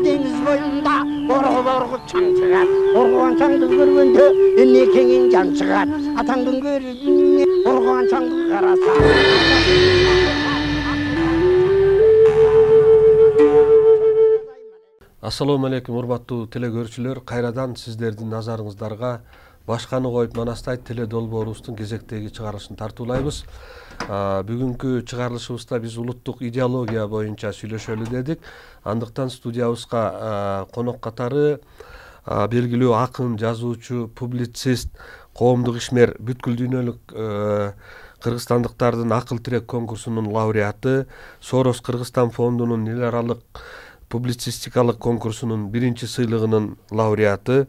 Deniz boyunda orgu çan çıkar. Orguan çandı görgünde enne kengin can çıkar. Atandın görgünde orguan çandı karasa. Assalamu алейкум, урматтуу телекөрүүчүлөр. Кайрадан сиздердин назарыңыздарга башканы коюп Манастай теле долбоорубуздун кезектеги чыгарылышын тартуулайбыз. Бүгүнкү чыгарылышыбызда биз улуттук идеология боюнча сүйлөшөлү дедик. Андыктан студиябызга конок катары белгилүү акын, жазуучу, публицист, коомдук ишмер, бүткүл дүйнөлүк кыргызстандыктардын акыл тирек конкурсунун лауреаты, Сорос Кыргызстан фондунун эл аралык публицистикалык конкурсунун биринчи сыйлыгынын лауреаты,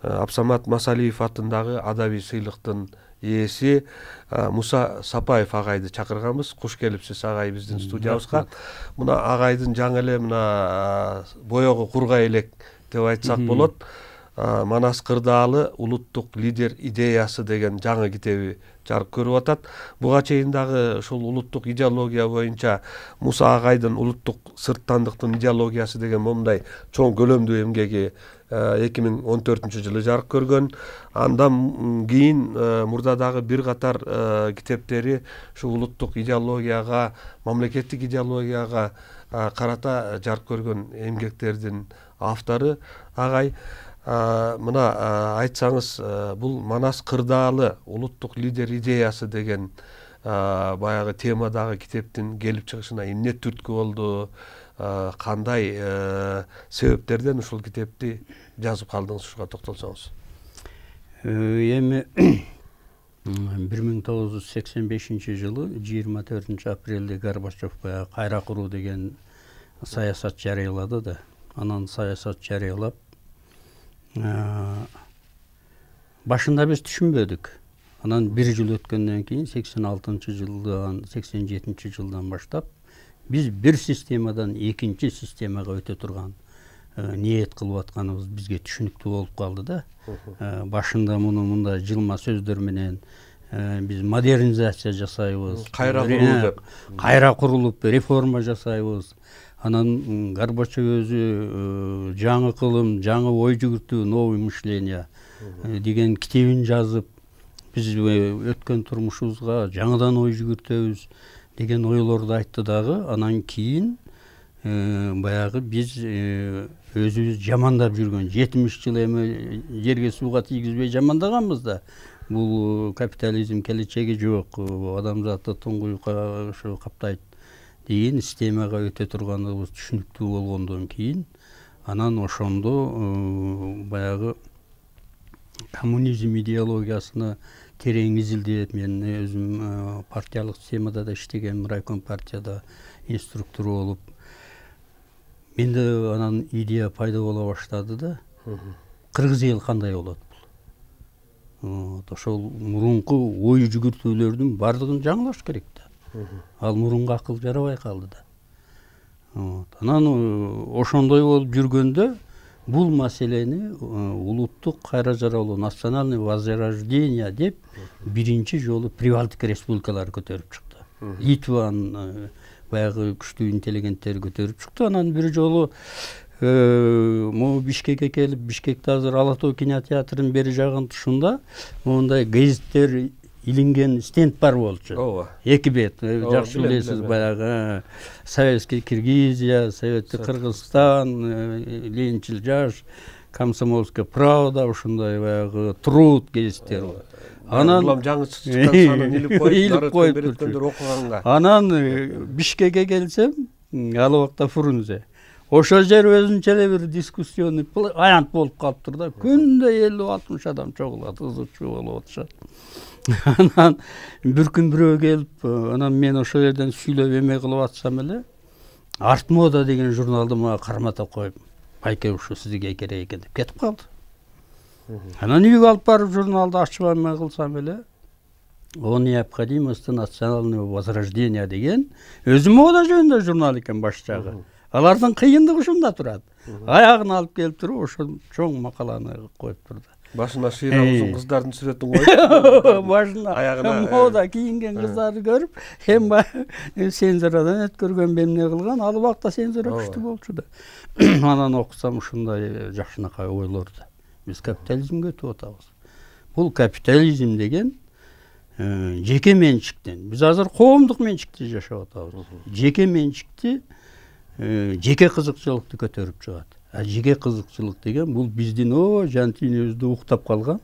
Абсамат Масалиев атындагы адабий сыйлыктын ээси Муса Сапаев агайды чакырганбыз. Куш келипсиз агай биздин студиябызга. Мына агайдын жаңы эле мына боёгу кургай элек деп айтсак болот. Манас кырдаалы улуттук лидер идеясы деген жаңы китеби жарык көрүп атат. Буга чейин дагы ушул улуттук идеология боюнча Муса агайдын улуттук сырттандыктын идеологиясы деген момундай чоң көлөмдүү эмгеги 2014-жылы жарык көргөн. Андан кийин мурда дагы бир катар китептери ушул улуттук идеологияга, мамлекеттик идеологияга карата жарык көргөн эмгектердин автору агай. Мына айтсаңыз, бул Манас кырдаалы улуттук лидер идеясы деген баягы темадагы китептин келип чыгышына эмне түрткү болду? Кандай себептерден ушул китепти жазып калдыңыз, ушуга токтолсоңуз. Эми 1985-жылы 24-апрелде Горбачев кайра куруу деген саясат жарыялады да. Анан саясат жарыялап, башында биз түшүнбөдүк. Анан бир жыл өткөндөн кийин 86-жылдан 87-жылдан баштап биз бир системадан экинчи системага өтө турган ниет кылып атканыбыз бизге түшүнүктүү болуп калды да. Башында муну мындай жылма сөздөр менен биз модернизация жасайбыз, кайра курулуп реформа жасайбыз. Анан Горбачев өзү жаңы кылым, жаңы ой жүгүртүү, новый мышление деген китебин жазып, биз өткөн турмушубузга жаңыдан ой жүгүртөбүз деген ойлорду айтты дагы. Анан кийин баягы биз өзүбүз жамандап жүргөн 70 жыл эми жерге сууга тийгизбей жамандаганбыз да. Бул капитализм келечеги жок, адамзатты туңгуюкка ушу каптайт деген системага өтө турганыбыз түшүнүктүү болгондон кийин анан ошондо баягы коммунизм идеологиясына терең изилдеп, мен өзүм партиялык системада да иштеген, райком партияда инструктор болуп, менде анан идея пайда боло баштады да. Кыргыз эл кандай болот бул? Ошол мурунку ой жүгүртүүлөрдүн бардыгын жаңылаш керек да. Ал мурунку акыл жарабай калды да. Анан ошондой болуп жүргөндө бул маселени улуттук кайра жаралуу, национальный возрождение деп биринчи жолу Прибалтика республикалары көтөрүп чыкты. Литванын баягы күчтүү интеллигенттери көтөрүп чыкты. Анан бир жолу могу Бишкекке келип, Бишкекте азыр Ала Тоо кинотеатрынын бери жагынын тушунда мондай гезиттер илинген стенд бар болчу. Эки бет, жакшы билесиз, баягы Советский Киргизия, Советский Кыргызстан, Ленинчил жаш, Комсомольская правда, ушундай баягы Труд гезиттери бар. Анан жаңы чыккан санын илип коюп береткендер окуганга. Анан Бишкекке келсем, ал убакта Фрунзе. Ошол жер өзүнчө эле бир дискуссионный аянт болуп калыптыр да. Күндө 50-60 адам чогулат, ызычуу болуп атышат. Анан бир күн бирөө келип, анан мен ошол жерден сүйлөп эме кылып атсам эле, Арт мода деген журналды мага кармата коюп, байке ушу сизге керек экен деп кетип калды. Анан үйгө алып барып журналды ачып эме кылсам эле, о необходимости национального возрождения деген өзү мода жөнүндө журнал экен баш жагы. Алардын кыйындыгы ушунда турат. Аягын алып келип туруп, ошол чоң макаланы коюп турду. Башына шыйра узун кыздардын сүрөтүн коюп, башына аягына мода кийинген кыздарды көрүп, эми цензурадан өткөргөн эмне кылган, ал убакта цензура күчтүү болчу да. Анан окусам ушундай жакшынакай ойлорду. Биз капитализмге өтүп атабыз. Бул капитализм деген жеке менчиктен. Биз азыр коомдук менчикте жашап атабыз. Жеке менчикти, жеке кызыкчылыкты көтөрүп чыгат. Жеке кызыкчылык деген бул биздин жан түйүнүбүздү уктап калган,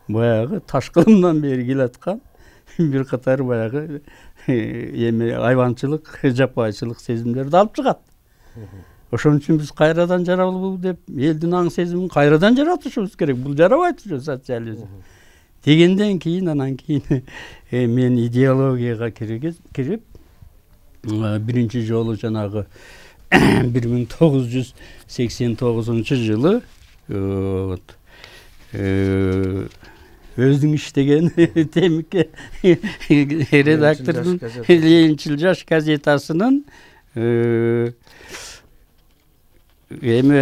баягы ташкылымдан бери келаткан бир катар баягы эми айванчылык, жапайчылык сезимдерди алып чыгат. Ошон үчүн биз кайрадан жаралуу деп элдин аң сезимин кайрадан жаратышыбыз керек. Бул жарабайт ушу социализм. Дегенден кийин анан кийин мен идеологияга кирип биринчи жолу жанагы 1989-жылы өзүң иштеген темикке редактордун Ленинчил жаш газетасынын эми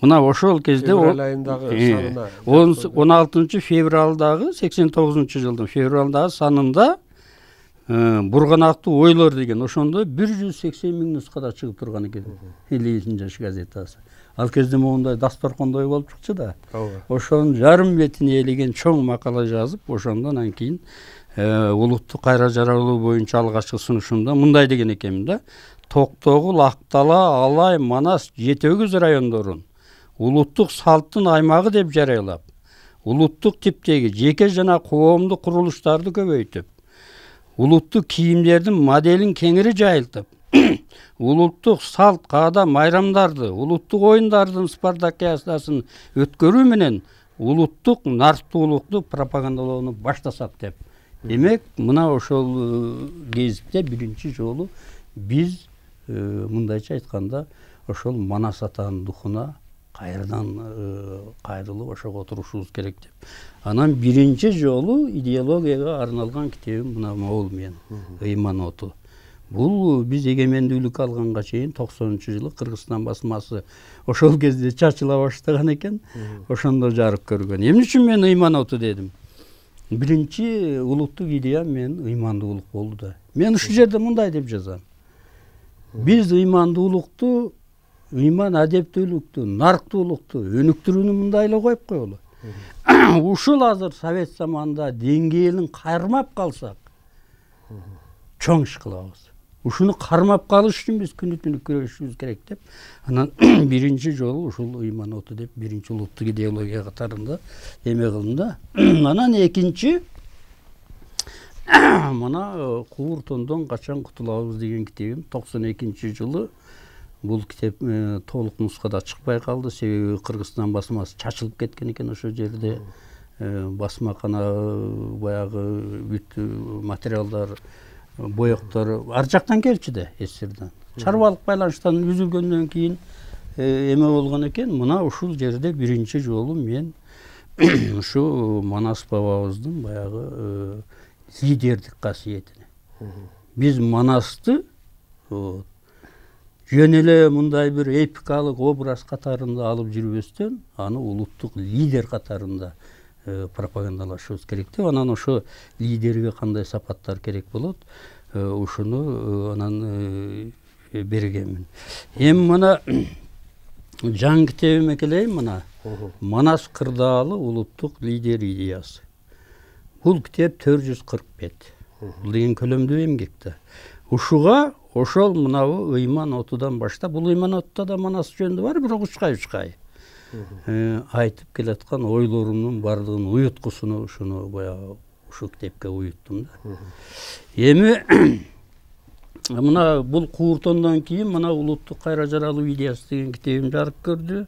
мына ошол кезде 16 февралдагы 89-жылдын февралдагы санында Бурганактуу ойлор деген ошондо 180 000 нускада чыгып турган экен Ленинчил жаш газетасы. Ал кезде моундай дасторкондой болуп чыкчу да. Ошонун жарым бетине элеген чоң макала жазып, ошондон анан кийин улуттук кайра жаралуу боюнча алгачкы сунушумда мындай деген экенмин да. Токтогул, Актала, Алай, Манас, Жети Өгүз райондорун улуттук салттын аймагы деп жарыялап, улуттук типтеги жеке жана коомдук курулуштарды көбөйтүп, улуттук кийимдердин моделин кеңири жайылтып, улуттук салт, каада, майрамдарды, улуттук оюндардын спартакиадасын өткөрүү менен улуттук нарктуулукту пропагандалоону баштасак деп. Демек, мына ошол кезипте биринчи жолу биз мындайча айтканда ошол Манас атанын духуна кайрадан кайрылып ошого турушубуз керек деп. Анан биринчи жолу идеологияга арналган китебим мына могул мен Ыйман оту. Бул биз эгемендүүлүк алганга чейин 90-жылы Кыргызстан басмасы ошол кезде чачыла баштаган экен. Ошондо жарык көргөн. Эмне үчүн мен Ыйман оту дедим? Биринчи улуттук идеям мен ыймандуулук болду да. Мен ушул жерде мындай деп жазам. Биз ыймандуулукту, ыйман адептүүлүктү, нарктуулукту өнүктүрүүнү мындай эле коюп коелу. Ушул азыр совет заманында деңгээлин кармап калсак, чоң иш кылабыз. Ушуну кармап калыш үчүн биз күнү-түнү күрөшүшүбүз керек деп, анан биринчи жолу ушул Ыйман оту деп биринчи улуттук идеология катарында эме кылдым да. Анан экинчи мына Куур тондон качан кутулабыз деген китебим 92-жылы бул китеп толук нускада чыкпай калды. Себеби Кыргызстан басмасы чачылып кеткен экен ошол жерде. Басмакана баягы бүт материалдар, боектор ар жактан келчү да, СССРдан. Чарбалык байланыштан үзүлгөндөн кийин эме болгон экен. Мына ушул жерде биринчи жолу мен ушу Манас бабабыздын баягы лидердик касиетине. Биз Манасты жөн эле мындай бир эпикалык образ катарында алып жүрбөстөн, аны улуттук лидер катарында пропагандалашыбыз керек деп, анан ошо лидерге кандай сапаттар керек болот, ушуну анан бергенмин. Эми мына жаңы китебиме келейин, мына Манас кырдаалы улуттук лидер идеясы. Бул китеп 440 бет. Бул деген көлөмдүү эмгек да. Ушуга ошол мынабу Ыйман отудан баштап, бул Ыйман отуда да Манас жөнүндө бар, бирок учкай айтып келаткан ойлорумдун бардыгын уюткусуну ушуну баягы ушул китепке уюттум да. Эми мына бул Куур тондон кийин мына улуттук кайра жаралуу идеясы деген китебим жарык көрдү.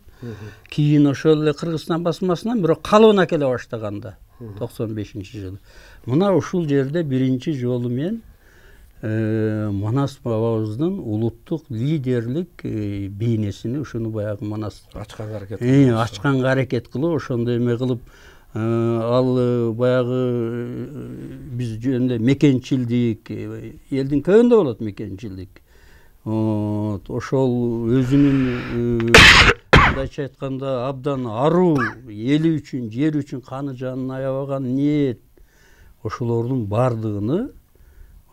Кийин ошол эле Кыргызстан басмасынан бирок калыбына келе баштаганда 95-жылы. Мына ушул жерде биринчи жолу мен Манас бабабыздын улуттук лидерлик бейнесини ушуну баягы Манас ачканга аракет кылып, ошондой эме кылып, ал баягы биз жөнүндө мекенчилдик, элдин көбүндө болот мекенчилдик. Ошол өзүнүн мындайча айтканда абдан аруу, эли үчүн, жер үчүн каны жанын аябаган ниет, ошолордун баардыгыны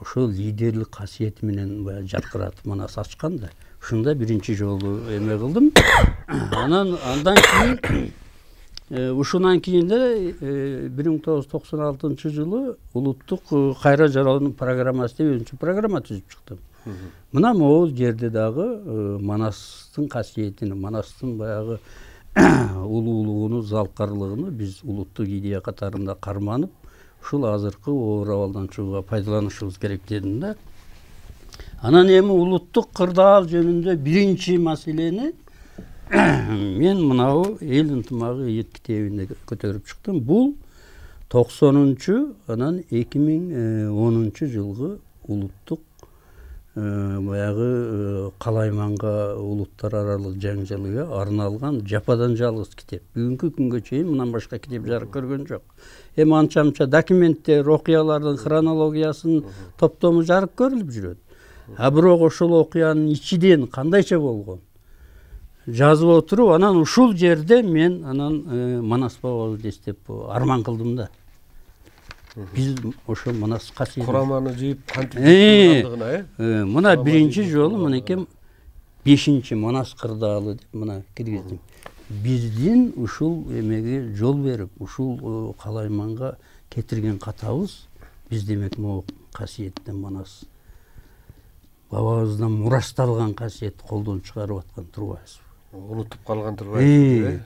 ошол лидерлик касиети менен баягы жаркыратып манас ачкан да. Ушунда биринчи жолу эме кылдым. Андан кийин ушундан кийин да 1996 жылы улуттук кайра жаралуунун программасы деп өзүнчө программа түзүп чыктым. Мына могул жерде дагы Манастын касиетин, Манастын баягы улуулугуну, залкарлыгыны биз улуттук идея катарында карманып, ушул азыркы оор абалдан чыгууга пайдаланышыбыз керек дедим да. Анан эми улуттук кырдаал жөнүндө биринчи маселени мен мынау эл ынтымагы китебинде көтөрүп чыктым. Бул 90-чу, анан 2010 жылгы улуттук баягы калайманга улуттар аралык жаңжалыга арналган жападан жалгыз китеп. Бүгүнкү күнгө чейин мындан башка китеп жарык көргөн жок. Эми анча-мынча документтер, окуялардын хронологиясын топтому жарык көрүлүп жүрөт. А бирок ошол окуянын ичиден кандайча болгон жазып отуруп, анан ушул жерде мен анан Манас бабабызды эстеп арман кылдым да. Биз ошо Манас касиетин кураманы жыйып кантип мына биринчи жолу мынакей 5-чи Манас кырдаалы деп мына киргиздим. Биздин ушул эмеге жол берип, ушул калайманга кетирген катабыз биз демек могу касиеттен Манас бабабыздан мурасталган касиетти колдон чыгарып аткан турбайбызбы? Унутуп калган турбайбыз.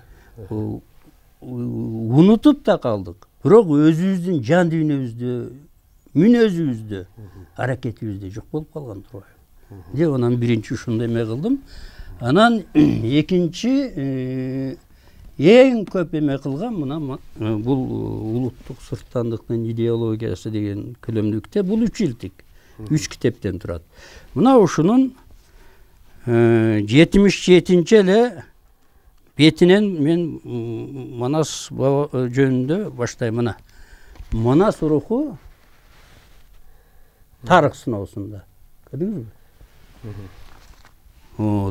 Унутуп да калдык. Бирок өзүбүздүн жан дүйнөбүздө, мүнөзүбүздө, аракетибизде жок болуп калган турбайбы? Деп анан биринчи ушундай эме кылдым. Анан экинчи эң көп эме кылган мына бул улуттук сырттандыктын идеологиясы деген көлөмдүү китеп. Бул 3 жылдык. 3 китептен турат. Мына ушунун 77-нчи эле бетинен мен Манас баба жөнүндө баштайм. Мына Манас руху тарых сыноосунда. Көрдүңүзбү?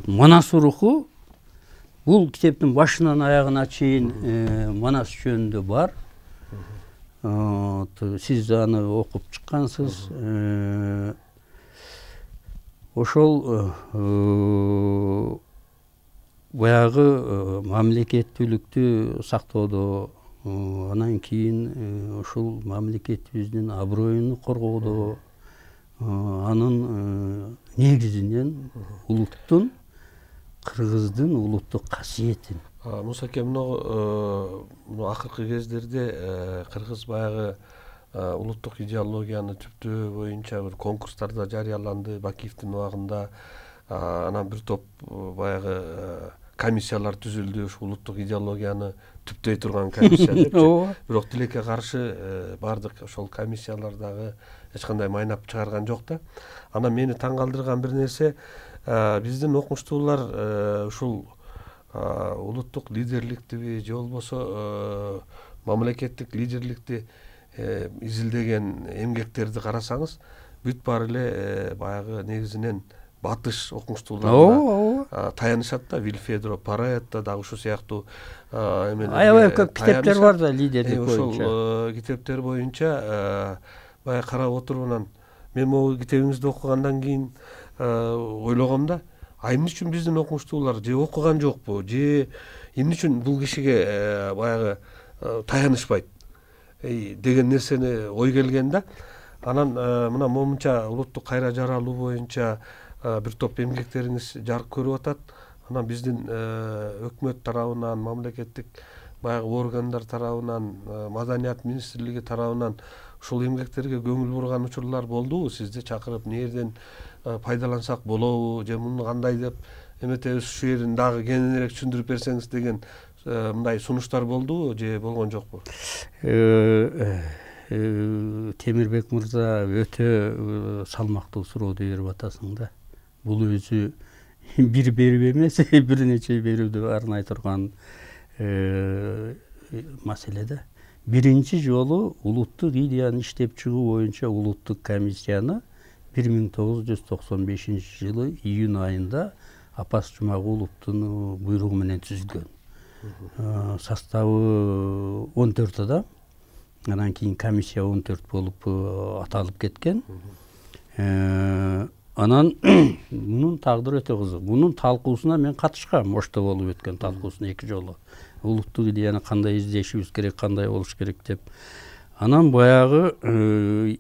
Манас руху бул китептин башынан аягына чейин Манас жөнүндө бар. Сиз аны окуп чыккансыз. Ошол баягы мамлекеттүүлүктү сактоодо, анан кийин ушул мамлекетибиздин аброюну коргоодо, анын негизинен улуттун, кыргыздын улуттук касиетин. Мусаке, муну акыркы кездерде кыргыз баягы улуттук идеологияны түптөө боюнча бир конкурстарда жарыяланды, Бакиевдин убагында. Анан бир топ баягы комиссиялар түзүлдү, ушул улуттук идеологияны түптөй турган комиссия депчи. Бирок тилекке каршы бардык ошол комиссиялар дагы эч кандай майнап чыгарган жок да. Анан мени таң калтырган бир нерсе, биздин окумуштуулар ушул улуттук лидерликтиби же болбосо мамлекеттик лидерликти изилдеген эмгектерди карасаңыз, бүт баары эле баягы негизинен батыш окумуштууларына таянышат да. Вильфедро Паретто дагы ушул сыяктуу аябай көп китептер бар да лидерлик боюнча. Ошол китептер боюнча баягы карап отуруп анан мен могу китебиңизди окугандан кийин ойлогом да, эмне үчүн биздин окумуштуулар же окуган жокпу, же эмне үчүн бул кишиге баягы таянышпайт деген нерсени ой келген да. Анан мына момунча улуттук кайра жаралуу боюнча бир топ эмгектериңиз жарык көрүп атат. Анан биздин өкмөт тарабынан, мамлекеттик баягы органдар тарабынан, маданият министрлиги тарабынан ушул эмгектерге көңүл бурган учурлар болдубу? Сизди чакырып, эмне жерден пайдалансак болобу, же муну кандай деп эметебиз, ушу жерин дагы кененирээк түшүндүрүп берсеңиз деген мындай сунуштар болдубу же болгон жокпу? Темирбек мырза өтө салмактуу сурооду берип атасың да. Бул өзү бир берип эмес, бир нече берүүдө арнай турган маселе да. Биринчи жолу улуттук идеяны иштеп чыгуу боюнча улуттук комиссияны 1995 жылы июнь айында Апас Жумагуловдун буйругу менен түзүлгөн. Составы 14 адам. Анан кийин комиссия 14 болуп аталып кеткен. Анан мунун тагдыры өтө кызык. Мунун талкуусуна мен катышкам, Ошто болуп өткөн талкуусуна 2 жолу. Улуттук идеяны кандай издешибиз керек, кандай болуш керек деп. Анан баягы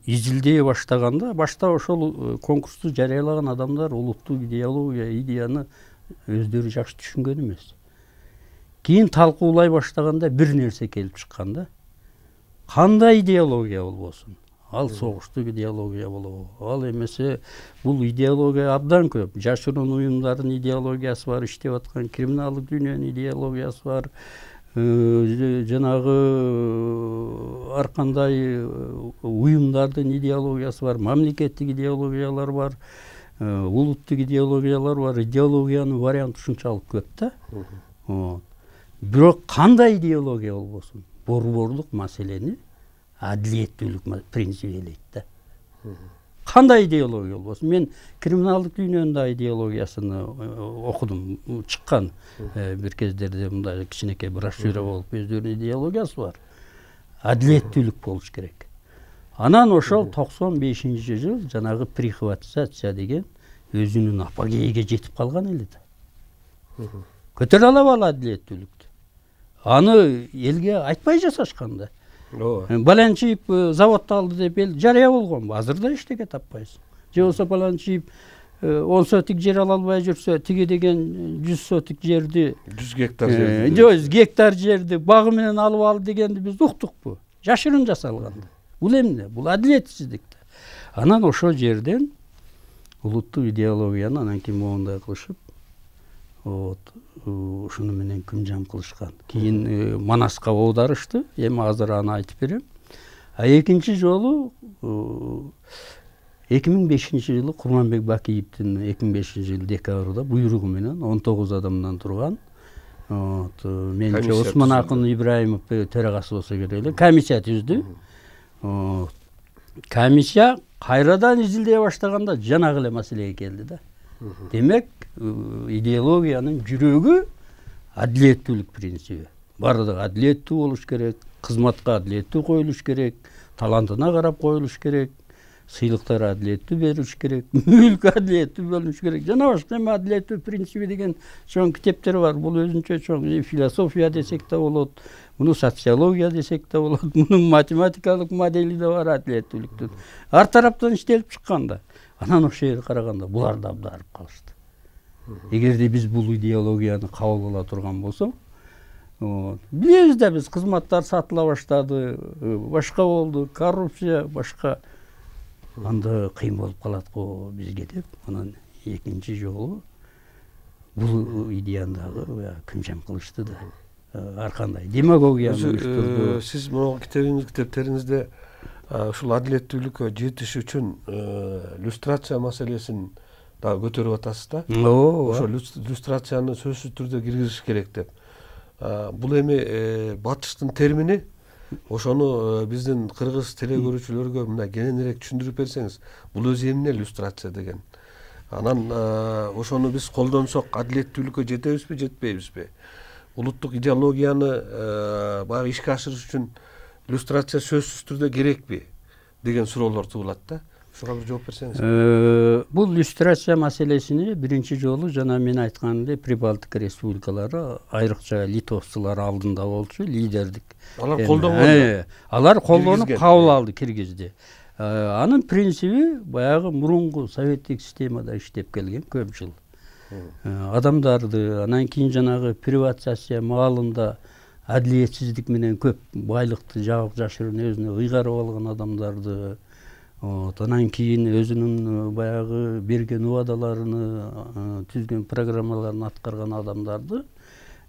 изилдей баштаганда, башта ошол конкурсту жарыялаган адамдар улуттук идеяны өздөрү жакшы түшүнгөн эмес. Кийин талкуулай баштаганда бир нерсе келип чыккан да. Кандай идеология болбосун? Ал согуштук идеология болобу? Ал эмесе бул идеология абдан көп. Жашыруун уюмдардын идеологиясы бар, иштеп аткан криминалдык дүйнөнүн идеологиясы бар. Жанагы ар кандай уюмдардын идеологиясы бар, мамлекеттик идеологиялар бар, улуттук идеологиялар бар. Идеологиянын варианты ушунчалык көп да. Бирок кандай идеология болбосун? Борборлук маселени адилеттүүлүк принциби элейт да. Кандай идеология болбосун? Мен криминалдык дүйнөнүн идеологиясын окудум, чыккан бир кездерде мындай кичинекей брошюра болуп, өздөрүнүн идеологиясы бар. Адилеттүүлүк болуш керек. Анан ошол 95-жыл жанагы прихватизация деген өзүнүн апогейге жетип калган эле да. Көтөрө алабы адилеттүүлүктү? Аны элге айтпай жасашкан да. Баланчиев заводду алды деп эл жарыя болгонбу? Азыр да эчтеке таппайсың. Же болсо Баланчиев 10 сотик жер ала албай жүрсө, тиги деген 100 сотик жерди, 100 гектар жерди, 100 гектар жерди багы менен алып алды дегенди биз уктукпу? Жашырын жасалган. Бул эмне? Бул адилетсиздик да. Анан ошол жерден улуттук идеологияны анан кийин моундай кылышып, ушуну менен күнжам кылышкан. Кийин Манаска оодарышты. Эми азыр аны айтып берем. Экинчи жолу 2005-жылы Курманбек Бакиевдин 2005-жылы декабрда буйругу менен 19 адамдан турган менче Осмон Акын Ибраимов төрагасы болсо керек эле, комиссия түздү. Комиссия кайрадан изилдей баштаганда жанагы эле маселеге келди да. Демек, идеологиянын жүрөгү адилеттүүлүк принциби. Бардыгы адилеттүү болуш керек, кызматка адилеттүү коюлуш керек, талантына карап коюлуш керек, сыйлыктар адилеттүү берилиш керек, мүлк адилеттүү бөлүнүш керек. Жана башка эми адилеттүү принциби деген чоң китептер бар. Бул өзүнчө чоң философия десек да болот, муну социология десек да болот, мунун математикалык модели да бар адилеттүүлүктүн. Ар тараптан иштелип чыккан да. Анан ошол жерге караганда булар да абдарып калышты. Эгерде биз бул идеологияны кабыл ала турган болсок, билебиз да биз кызматтар сатыла баштады, башка болду, коррупция башка. Анда кыйын болуп калат го бизге деп, анан экинчи жолу бул идеяны дагы күнжам кылышты да. Ар кандай демагогияны уюштурду. Сиз могу китептериңизде ушул адилеттүүлүккө жетиш үчүн люстрация маселесин дагы көтөрүп атасыз да. Ошо люстрацияны сөзсүз түрдө киргизиш керек деп. Бул эми батыштын термини. Ошону биздин кыргыз телекөрүүчүлөргө мына кененирээк түшүндүрүп берсеңиз, бул өзү эмне люстрация деген? Анан ошону биз колдонсок адилеттүүлүккө жетебизби, жетпейбизби? Улуттук идеологияны баягы ишке ашырыш үчүн люстрация сөзсүз түрдө керекпи деген суроолор туулат да. Ушуга бир жооп берсеңиз. Бул люстрация маселесини биринчи жолу жана мен айткандай Прибалтика республикалары, айрыкча литовцулар алдында болчу, лидердик. Алар колдонгон. Алар колдонуп кабыл алды, киргизди. Анын принциби баягы мурунку советтик системада иштеп келген көп жыл. Адамдарды анан кийин жанагы приватизация маалында адилетсиздик менен көп байлыкты жагып жашырын өзүнө ыйгарып алган адамдарды, анан кийин өзүнүн баягы берген убадаларыны, түзгөн программаларын аткарган адамдарды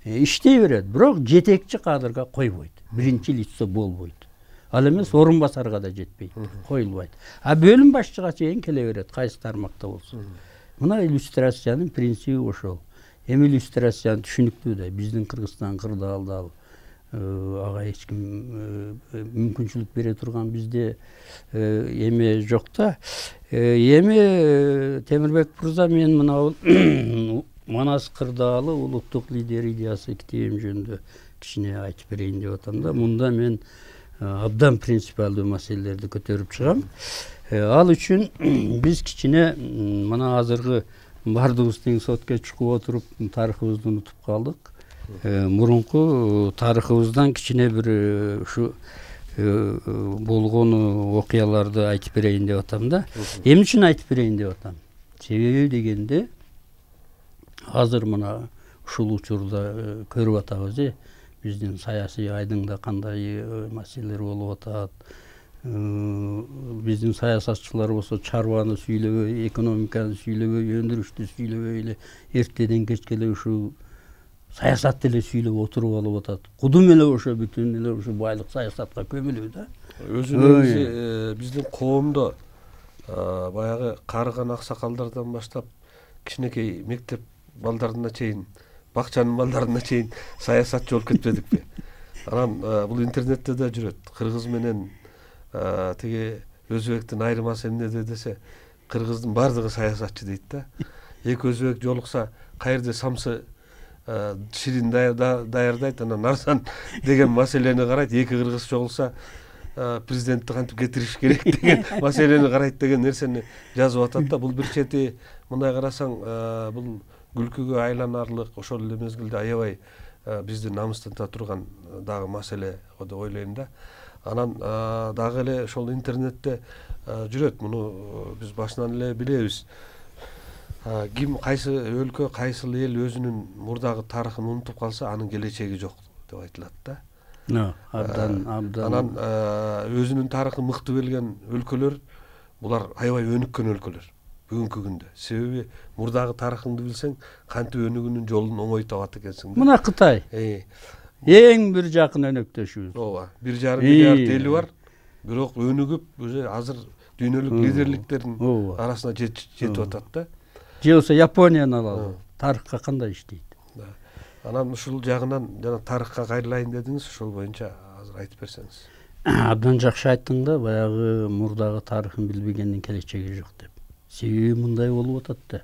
иштей берет, бирок жетекчи кадрга койбойт. Биринчи лицо болбойт. Ал эмес орун басарга да жетпейт, коюлбайт. Бөлүм башчыга чейин келе берет, кайсы тармакта болсун. Мына иллюстрациянын принциби ошол. Эми иллюстрацияны түшүнүктүү да, биздин Кыргызстан кырдаалда ага эч ким мүмкүнчүлүк бере турган бизде эме жок да. Эми Темирбек мырза, мен мына Манас Кырдаалы улуттук лидер идеясы китебим жөнүндө кичине айтып берейин деп атам да. Мында мен абдан принципиалдуу маселелерди көтөрүп чыгам. Ал үчүн биз кичине мына азыркы баардыгыбыз тең сотко чыгып отуруп тарыхыбызды унутуп калдык. Мурунку тарыхыбыздан кичине бир ушу болгон окуяларды айтып берейин деп атам да. Эмне үчүн айтып берейин деп атам? Себеби дегенде азыр мына ушул учурда көрүп атабыз, биздин саясий айдыңда кандай маселелер болуп атат. Биздин саясатчылар болсо чарбаны сүйлөбөй, экономиканы сүйлөбөй, өндүрүштү сүйлөбөй эле эртеден кечке эле ушул саясатты эле сүйлөп отуруп алып атат. Кудум эле ошо бүтүн эле ушу байлык саясатка көмүлүү да. Өзүнүн биздин коомдо баягы карыган аксакалдардан баштап кичинекей мектеп балдарына чейин, бакчанын балдарына чейин саясатчы болуп кетпедикпи? Анан бул интернетте да жүрөт. Кыргыз менен тиги өзбектин айырмасы эмнеде десе, кыргыздын баардыгы саясатчы дейт да. Эки өзбек жолукса, каерде самсы ширин даярдайт, анан арзан деген маселени карайт. Эки кыргыз чогулса, президентти кантип кетириш керек деген маселени карайт деген нерсени жазып атат да. Бул бир чети мындай карасаң, бул күлкүгө айланарлык, ошол эле мезгилде аябай бизди намыстата турган дагы маселе деп ойлойм да. Анан дагы эле ошол интернетте жүрөт. Муну биз башынан эле билебиз. Ким кайсы өлкө, кайсыл эл өзүнүн мурдагы тарыхын унутуп калса, анын келечеги жок деп айтылат да. Абдан. Анан өзүнүн тарыхын мыкты билген өлкөлөр, булар аябай өнүккөн өлкөлөр бүгүнкү күндө. Себеби мурдагы тарыхыңды билсең, кантип өнүгүүнүн жолун оңой табат экенсиң да. Мына Кытай. Эң бир жакын өнөктөшүбүз. Ооба, 1,5 миллиард эли бар, бирок өнүгүп, азыр дүйнөлүк лидерликтердин арасына жетип атат да. Же болсо Японияны алалы. Тарыхка кандай иштейт? Анан ушул жагынан жана тарыхка кайрылайын дедиңиз, ошол боюнча азыр айтып берсеңиз. Абдан жакшы айттың да, баягы мурдагы тарыхын билбегендин келечеги жок деп. Себеби мындай болуп атат да.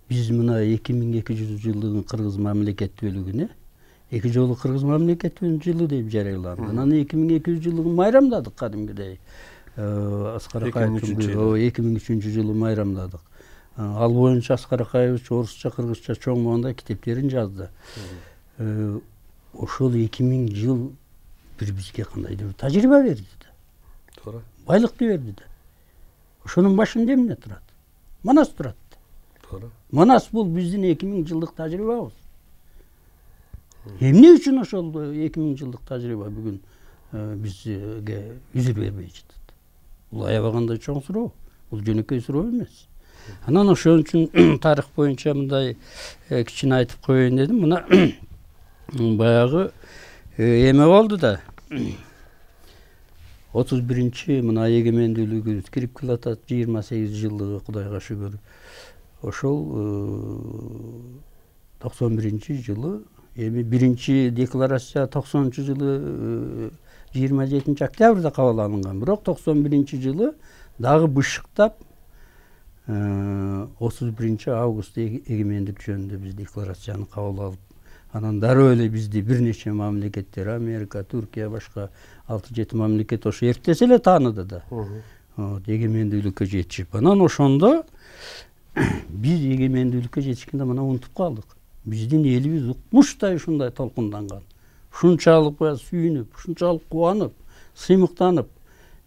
Биз мына 2200 жылдыгын кыргыз мамлекеттүүлүгүнө эки жолу кыргыз мамлекеттүүлүгүнүн жылы деп жарыяланды. Анан 2200 жылдыгын майрамдадык кадимгидей. Аскар Акаевдин 2003 жылы майрамдадык. Ал боюнча Аскар Акаевич орусча, кыргызча чоң манда китептерин жазды. Ошол 2000 жыл бир бизге кандайдыр тажрыйба берди да. Туура. Байлыкты берди да. Ошонун башында эмне турат? Манас турат. Туура. Манас бул биздин 2000 жылдык тажрыйбабыз. Эмне үчүн ошол 2000 жылдык тажрыйба бүгүн бизге үзүр бербей жатат? Бул аябагандай чоң суроо. Бул жөнөкөй суроо эмес. Анан ошон үчүн тарых боюнча мындай кичине айтып коеюн дедим. Мына баягы эме болду да. 31-чи мына эгемендүүлүгүбүз кирип келатат, 28 жылдыгы Кудайга шүгүр. Ошол 91-чи жылы, эми биринчи декларация 90-чы жылы 27 октябрда кабыл алынган. Бирок 91-чи жылы дагы бышыктап 31 августта эгемендик жөнүндө биз декларацияны кабыл алып, анан дароо эле бизди бир нече мамлекеттер, Америка, Түркия, башка 6-7 мамлекет ошо эртесе эле тааныды да. Эгемендүүлүккө жетишип. Анан ошондо биз эгемендүүлүккө жетишкенде мына унутуп калдык. Биздин элибиз укмуштай ушундай толкунданган. Ушунчалык сүйүнүп, ушунчалык кубанып, сыймыктанып.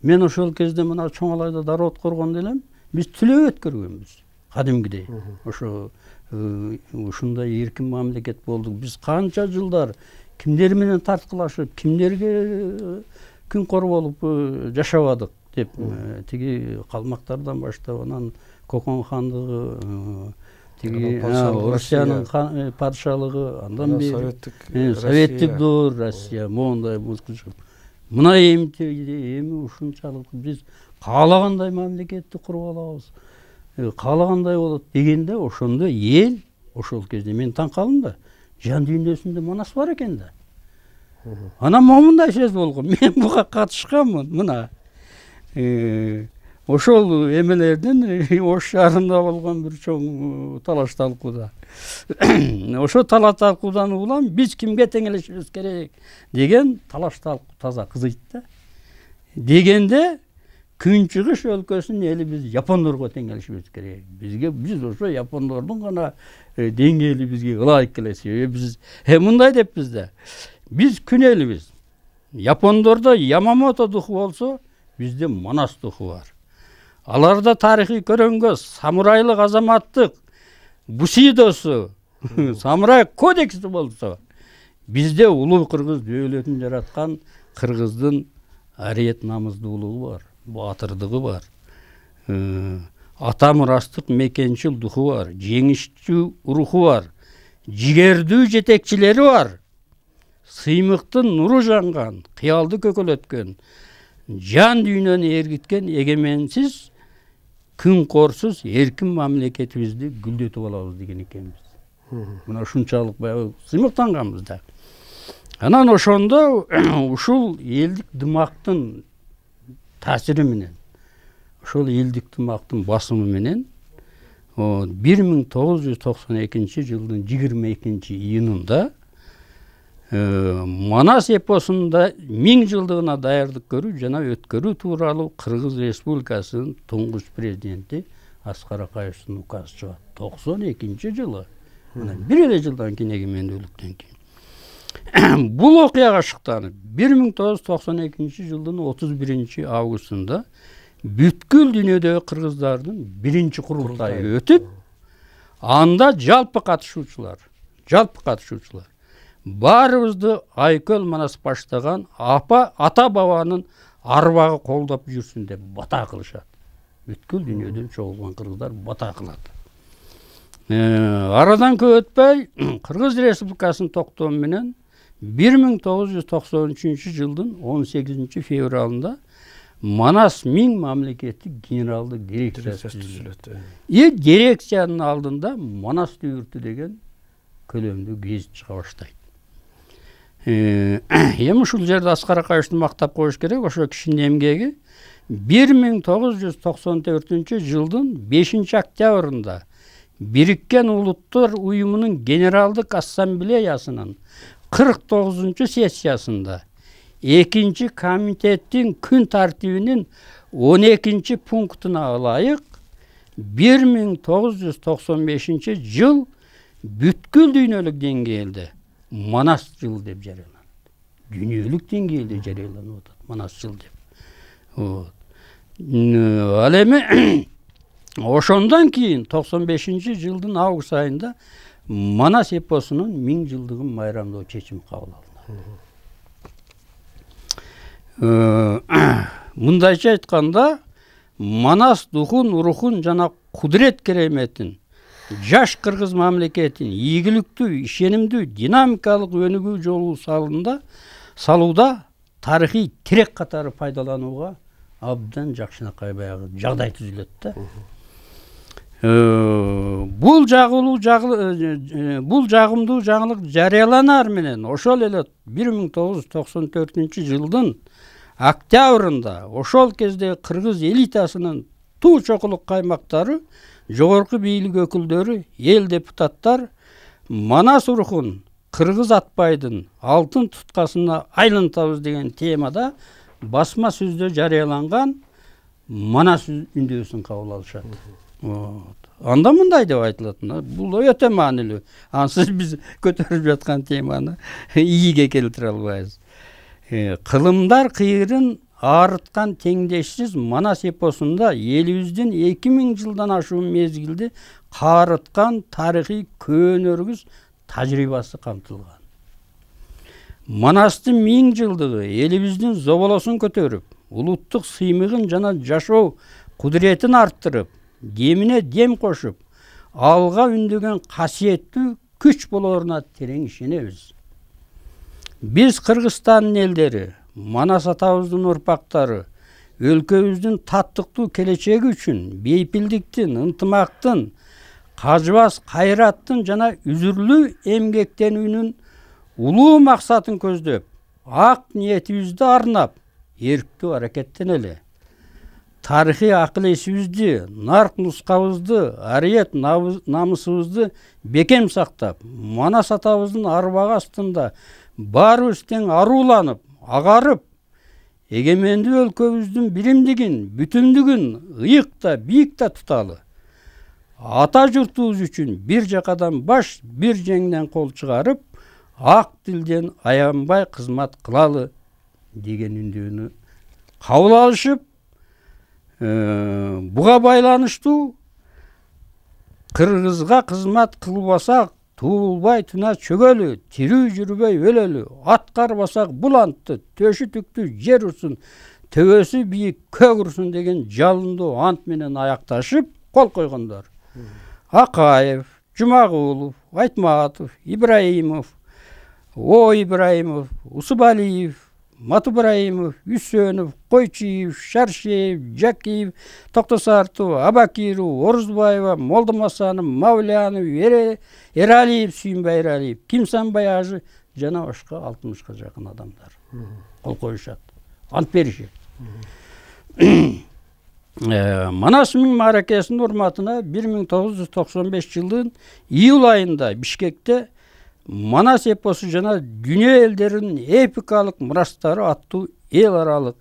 Мен ошол кезде мына Чоңалайда дароо коргондо элем, биз түлөө өткөргөнбүз. Кадимгидей. Ошо ушундай эркин мамлекет болдук. Биз канча жылдар кимдер менен тарткылашып, кимдерге күнкор болуп жашабадык деп тиги калмактардан баштап анан Кокон хандыгы, тиги Орусиянын падышалыгы, андан бери советтик доор Россия моундай музгучуп. Мына эми ушунчалык биз каалагандай мамлекетти куруп алабыз. Каалагандай болот дегенде ошондо эл ошол кезде мен таң калдым да. Жан дүйнөсүндө Манас бар экен да. Анан момундай сөз болгон. Мен буга катышканмын. Мына ошол эмелердин Ош шаарында болгон бир чоң талаш талкууда ошо талаш талкуудан улам биз кимге теңелишибиз керек деген талаш талкуу таза кызыйт да. Дегенде Күнчүгүш өлкөсүнүн эли биз япондорго теңелишибиз керек. Биз ошо япондордун гана деңгээли бизге ылайык келет. Биз мындай деппиз да. Биз күн элибиз. Япондордо Ямамото духу болсо, бизде Манас духу бар. Аларда тарыхый көрөнгө самурайлык азаматтык бусидосу, самурай кодекси болсо, бизде улуу кыргыз дөөлөтүн жараткан кыргыздын ариет намыздуулугу бар, батырдыгы бар. Ата мурастык мекенчил духу бар, жеңишчү руху бар, жигердүү жетекчилери бар. Сыймыктын нуру жанган, кыялды көкөлөткөн, жан дүйнөнү ээргиткен эгеменсиз, күн корсуз эркин мамлекетибизди гүлдөтүп алабыз деген экенбиз. Мына ушунчалык баягы сыймыктанганбыз да. Анан ошондо ушул элдик дымактын таасири менен, ошол элдик дымактын басымы менен 1992 жылдын 22-июнунда Манас эпосунда 1000 жылдыгына даярдык көрүү жана өткөрүү тууралуу Кыргыз Республикасынын туңгуч президенти Аскар Акаевдин указы чыгат. 92 жылы. Мына бир эле жылдан кийин эгемендүүлүктөн кийин. Бул окуяга шыктанып 1992 жылдын 31 августунда бүткүл дүйнөдөгү кыргыздардын биринчи курултайы өтүп, анда жалпы катышуучулар баарыбызды Айкөл Манас баштаган ата бабанын арбагы колдоп жүрсүн деп бата кылышат. Бүткүл дүйнөдөн чогулган кыргыздар бата кылат. Арадан көп өтпөй Кыргыз Республикасынын токтому менен 1993 жылдын 18 февралында Манас 1000 мамлекеттик генералдык дирекциясы түзүлөт. Дирекциянын алдында Манас дүйүртү деген көлөмдүү гезит чыга баштайт. Эми ушул жерде Аскар Акаевди мактап коюш керек. Ошо кишинин эмгеги 1994 жылдын 5 октябрында Бириккен Улуттар Уюмунун Генералдык Ассамблеясынын 49 сессиясында 2 комитеттин күн тартибинин 12 пунктуна ылайык 1995 жыл бүткүл дүйнөлүк деңгээлде Манас жылы деп жарыяланат. Дүйнөлүк деңгээлде жарыяланып атат Манас жыл деп. Ал эми ошондон кийин 95 жылдын август айында Манас эпосунун 1000 жылдыгын майрамдоо чечими кабыл алынды. Мындайча айтканда, Манас духун, рухун жана кудурет кереметин жаш кыргыз мамлекетин ийгиликтүү, ишенимдүү, динамикалык өнүгүү жолу салууда тарыхый тирек катары пайдаланууга абдан жакшынакай баягы жагдай түзүлөт да. Бул жагымдуу жаңылык жарыяланар менен ошол эле 1994 жылдын октябрында ошол кезде кыргыз элитасынын туу чокулук каймактары, жогорку бийлик өкүлдөрү, эл депутаттар Манас рухун кыргыз атпайдын алтын туткасына айлантабыз деген темада басма сөздө жарыяланган Манас үндөөсүн кабыл алышат. Анда мындай деп айтылат. Бул өтө маанилүү. Ансыз биз көтөрүп жаткан теманы ийиге келтире албайбыз. Кылымдар кыйырын аарыткан теңдешсиз Манас эпосунда элибиздин 2000 жылдан ашуун мезгилди каарыткан тарыхый көөнөргүз тажрыйбасы камтылган. Манастын 1000 жылдыгы элибиздин зоболосун көтөрүп, улуттук сыймыгын жана жашоо кудуретін арттырып, демине дем кошуп, алга үндөгөн касиеттүү күч болоруна терең ишенебиз. Биз Кыргызстандын элдери, Манас атабыздын урпактары, өлкөбүздүн таттыктуу келечеги үчүн бейпилдиктин, ынтымактын, кажыбас кайраттын жана үзүрлүү эмгектенүүнүн улуу максатын көздөп, ак ниетибизди арнап, эрктүү аракеттенели. тарыхый акыл эсибизди, нарк нускабызды, ариет намысыбызды бекем сактап, Манас атабыздын арбагы астында баарыбыз тең арууланып, агарып, эгемендүү өлкөбүздүн биримдигин, бүтүндүгүн ыйыкта, бийикте туталы. Ата журтубуз үчүн бир жакадан баш, бир жеңден кол чыгарып, ак тилден аянбай кызмат кылалы деген үндүүнү кабыл алышып, буга байланыштуу кыргызга кызмат кылбасак туулбай туна чөгөлү, тирүү жүрбөй өлөлү, ат карбасак бул антты, төшү түктүү жер урсун, төбөсү бийик көк урсун деген жалындуу ант менен аякташып кол койгондор. Акаев, Жумагулов, Айтматов, Ибраимов, Ибраимов, Усубалиев, Матубраимов, Үсөнов, Койчиев, Шаршеев, Жакиев, Токтосартов, Абакиров, Орузбаева, Молдомасанов, Мавлянов, Эралиев, Сүйүнбай Эралиев, Кимсанбай Ажы жана башка 60-ка жакын адамдар кол коюшат, ант беришет. Манас миң мааракесинин урматына 1995 жылдын июль айында Бишкекте Манас эпосу жана дүйнө элдеринин эпикалык мурастары аттуу эл аралык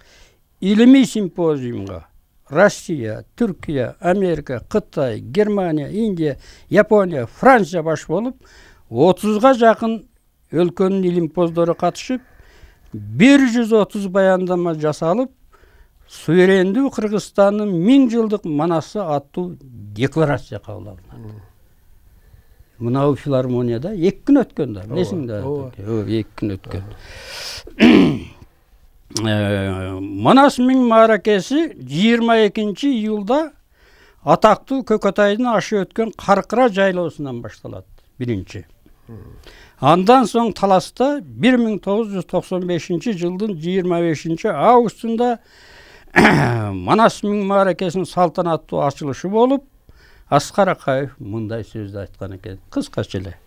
илимий симпозиумга Россия, Түркия, Америка, Кытай, Германия, Индия, Япония, Франция баш болуп 30-га жакын өлкөнүн илимпоздору катышып, 130 баяндама жасалып, суверендүү Кыргызстандын 1000 жылдык манасы аттуу декларация кабыл алынат. Мына филармонияда 2 күн өткөн да, билесиңер. 2 күн өткөн. Манас миң мааракеси 22 июлда атактуу Көкөтайдын ашы өткөн Каркыра жайлоосунан башталат. Биринчи. Андан соң таласта 1995 жылдын 25 августунда Манас миң мааракесинин салтанаттуу ачылышы болуп, Аскар Акаев мындай сөздү айткан экен, кыскача эле.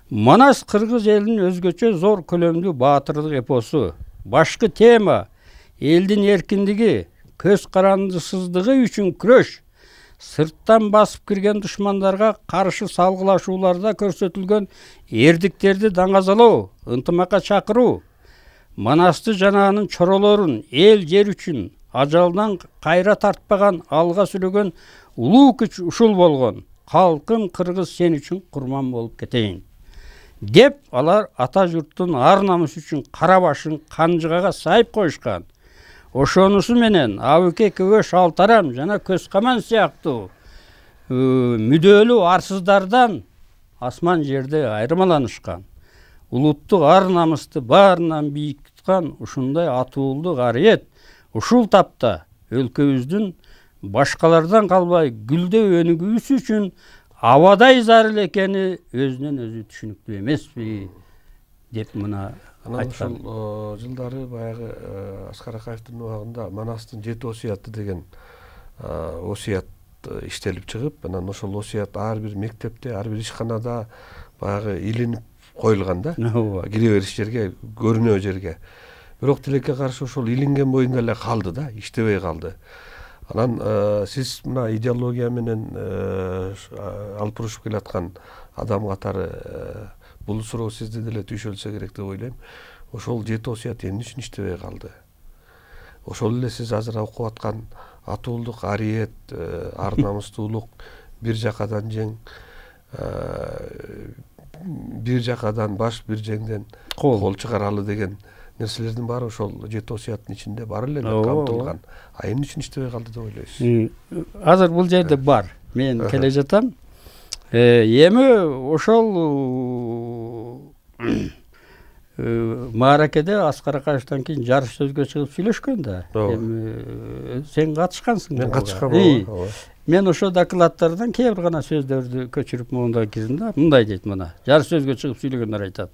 Манас кыргыз элинин өзгөчө зор көлөмдүү баатырлык эпосу. Башкы тема элдин эркиндиги, көз карандысыздыгы үчүн күрөш, сырттан басып кирген душмандарга каршы салгылашууларда көрсөтүлгөн эрдиктерди даңазалоо, ынтымакка чакыруу, Манасты жана анын чоролорун эл жер үчүн ажалдан кайра тартпаган, алга сүрөгөн улуу күч ушул болгон. Калкым кыргыз сен үчүн курман болуп кетейин деп алар ата журттун ар намысы үчүн кара башын канжыгага сайып коюшкан. Ошонусу менен Абыке Көбө Шалтарам жана Көз Каман сыяктуу мүдөлүү арсыздардан асман жерде айырмаланышкан. Улуттук ар намысты баарынан бийик туткан ушундай атуулдук ариет ушул тапта өлкөбүздүн башкалардан калбай гүлдөп өнүгүүсү үчүн абадай зарыл экени өзүнөн өзү түшүнүктүү эмеспи деп мына айткан. Ушул жылдары баягы Аскар Акаевдин убагында Манастын 7 осуяты деген осуят иштелип чыгып, анан ошол осуят ар бир мектепте, ар бир ишканада баягы илинип коюлган да. Кире бериш жерге, көрүнөө жерге. Бирок тилекке каршы ошол илинген боюнда эле калды да, иштебей калды. Анан сиз мына идеология менен алып урушуп келаткан адам катары бул суроо сизди деле түйшөлсө керек деп ойлойм. Ошол 7 осуят эмне үчүн иштебей калды? Ошол эле сиз азыр окуп аткан атуулдук ариет, ар намыстуулук, бир жакадан жең, бир жакадан баш, бир жеңден кол чыгаралы деген нерселердин баары ошол 7 осуяттын ичинде бар эле камтылган. А эмне үчүн иштебей калды деп ойлойсуз? Азыр бул жерде бар. Мен келе жатам. Эми ошол мааракеде Аскар Акаевден кийин жарыш сөзгө чыгып сүйлөшкөн да. Эми сен катышкансың. Мен катышкам. Мен ошо докладдардан кээ бир гана сөздөрдү көчүрүп монда кирдим да. Мындай дейт мына. Жарыш сөзгө чыгып сүйлөгөндөр айтат.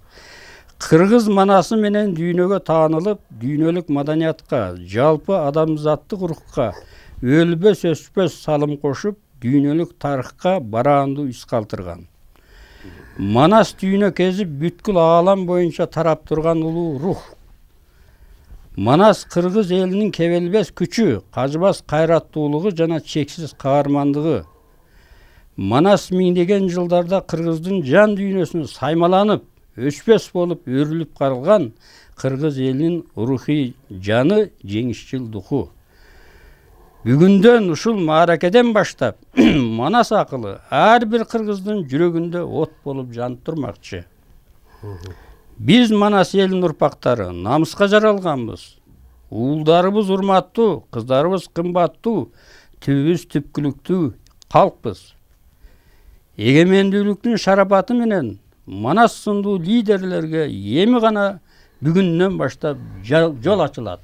Кыргыз манасы менен дүйнөгө таанылып, дүйнөлүк маданиятка, жалпы адамзаттык рухка өлбөс өчпөс салым кошуп, дүйнөлүк тарыхка бараандуу из калтырган. Манас дүйнө кезип бүткүл аалам боюнча тарап турган улуу рух. Манас кыргыз элинин кебелбес күчү, кажыбас кайраттуулугу жана чексиз каармандыгы. Манас миңдеген жылдарда кыргыздын жан дүйнөсүнө саймаланып, өчпөс болуп өрүлүп калган кыргыз элинин рухий жаны, жеңишчил духу. Бүгүндөн ушул мааракеден баштап Манас акылы ар бир кыргыздын жүрөгүндө от болуп жанып турмакчы. Биз Манас элинин урпактары намыска жаралганбыз. Уулдарыбыз урматтуу, кыздарыбыз кымбаттуу, түбүбүз түпкүлүктүү калкпыз. Эгемендүүлүктүн шарапаты менен Манас сындуу лидерлерге эми гана бүгүндөн баштап жол ачылат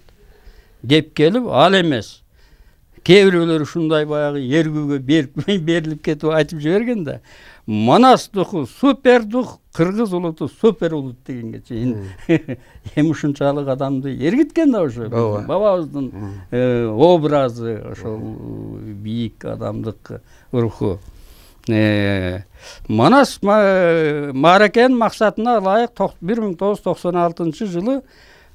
деп келип, ал эмес. Кээ бирөөлөр ушундай баягы эргүүгө берилип кетип айтып жиберген да. Манас духу супер дух, кыргыз улуту супер улут дегенге чейин эми ушунчалык адамды эргиткен да ошо. Бабабыздын образы, ошол бийик адамдык руху. Манас мааракенин максатына ылайык 1996 жылы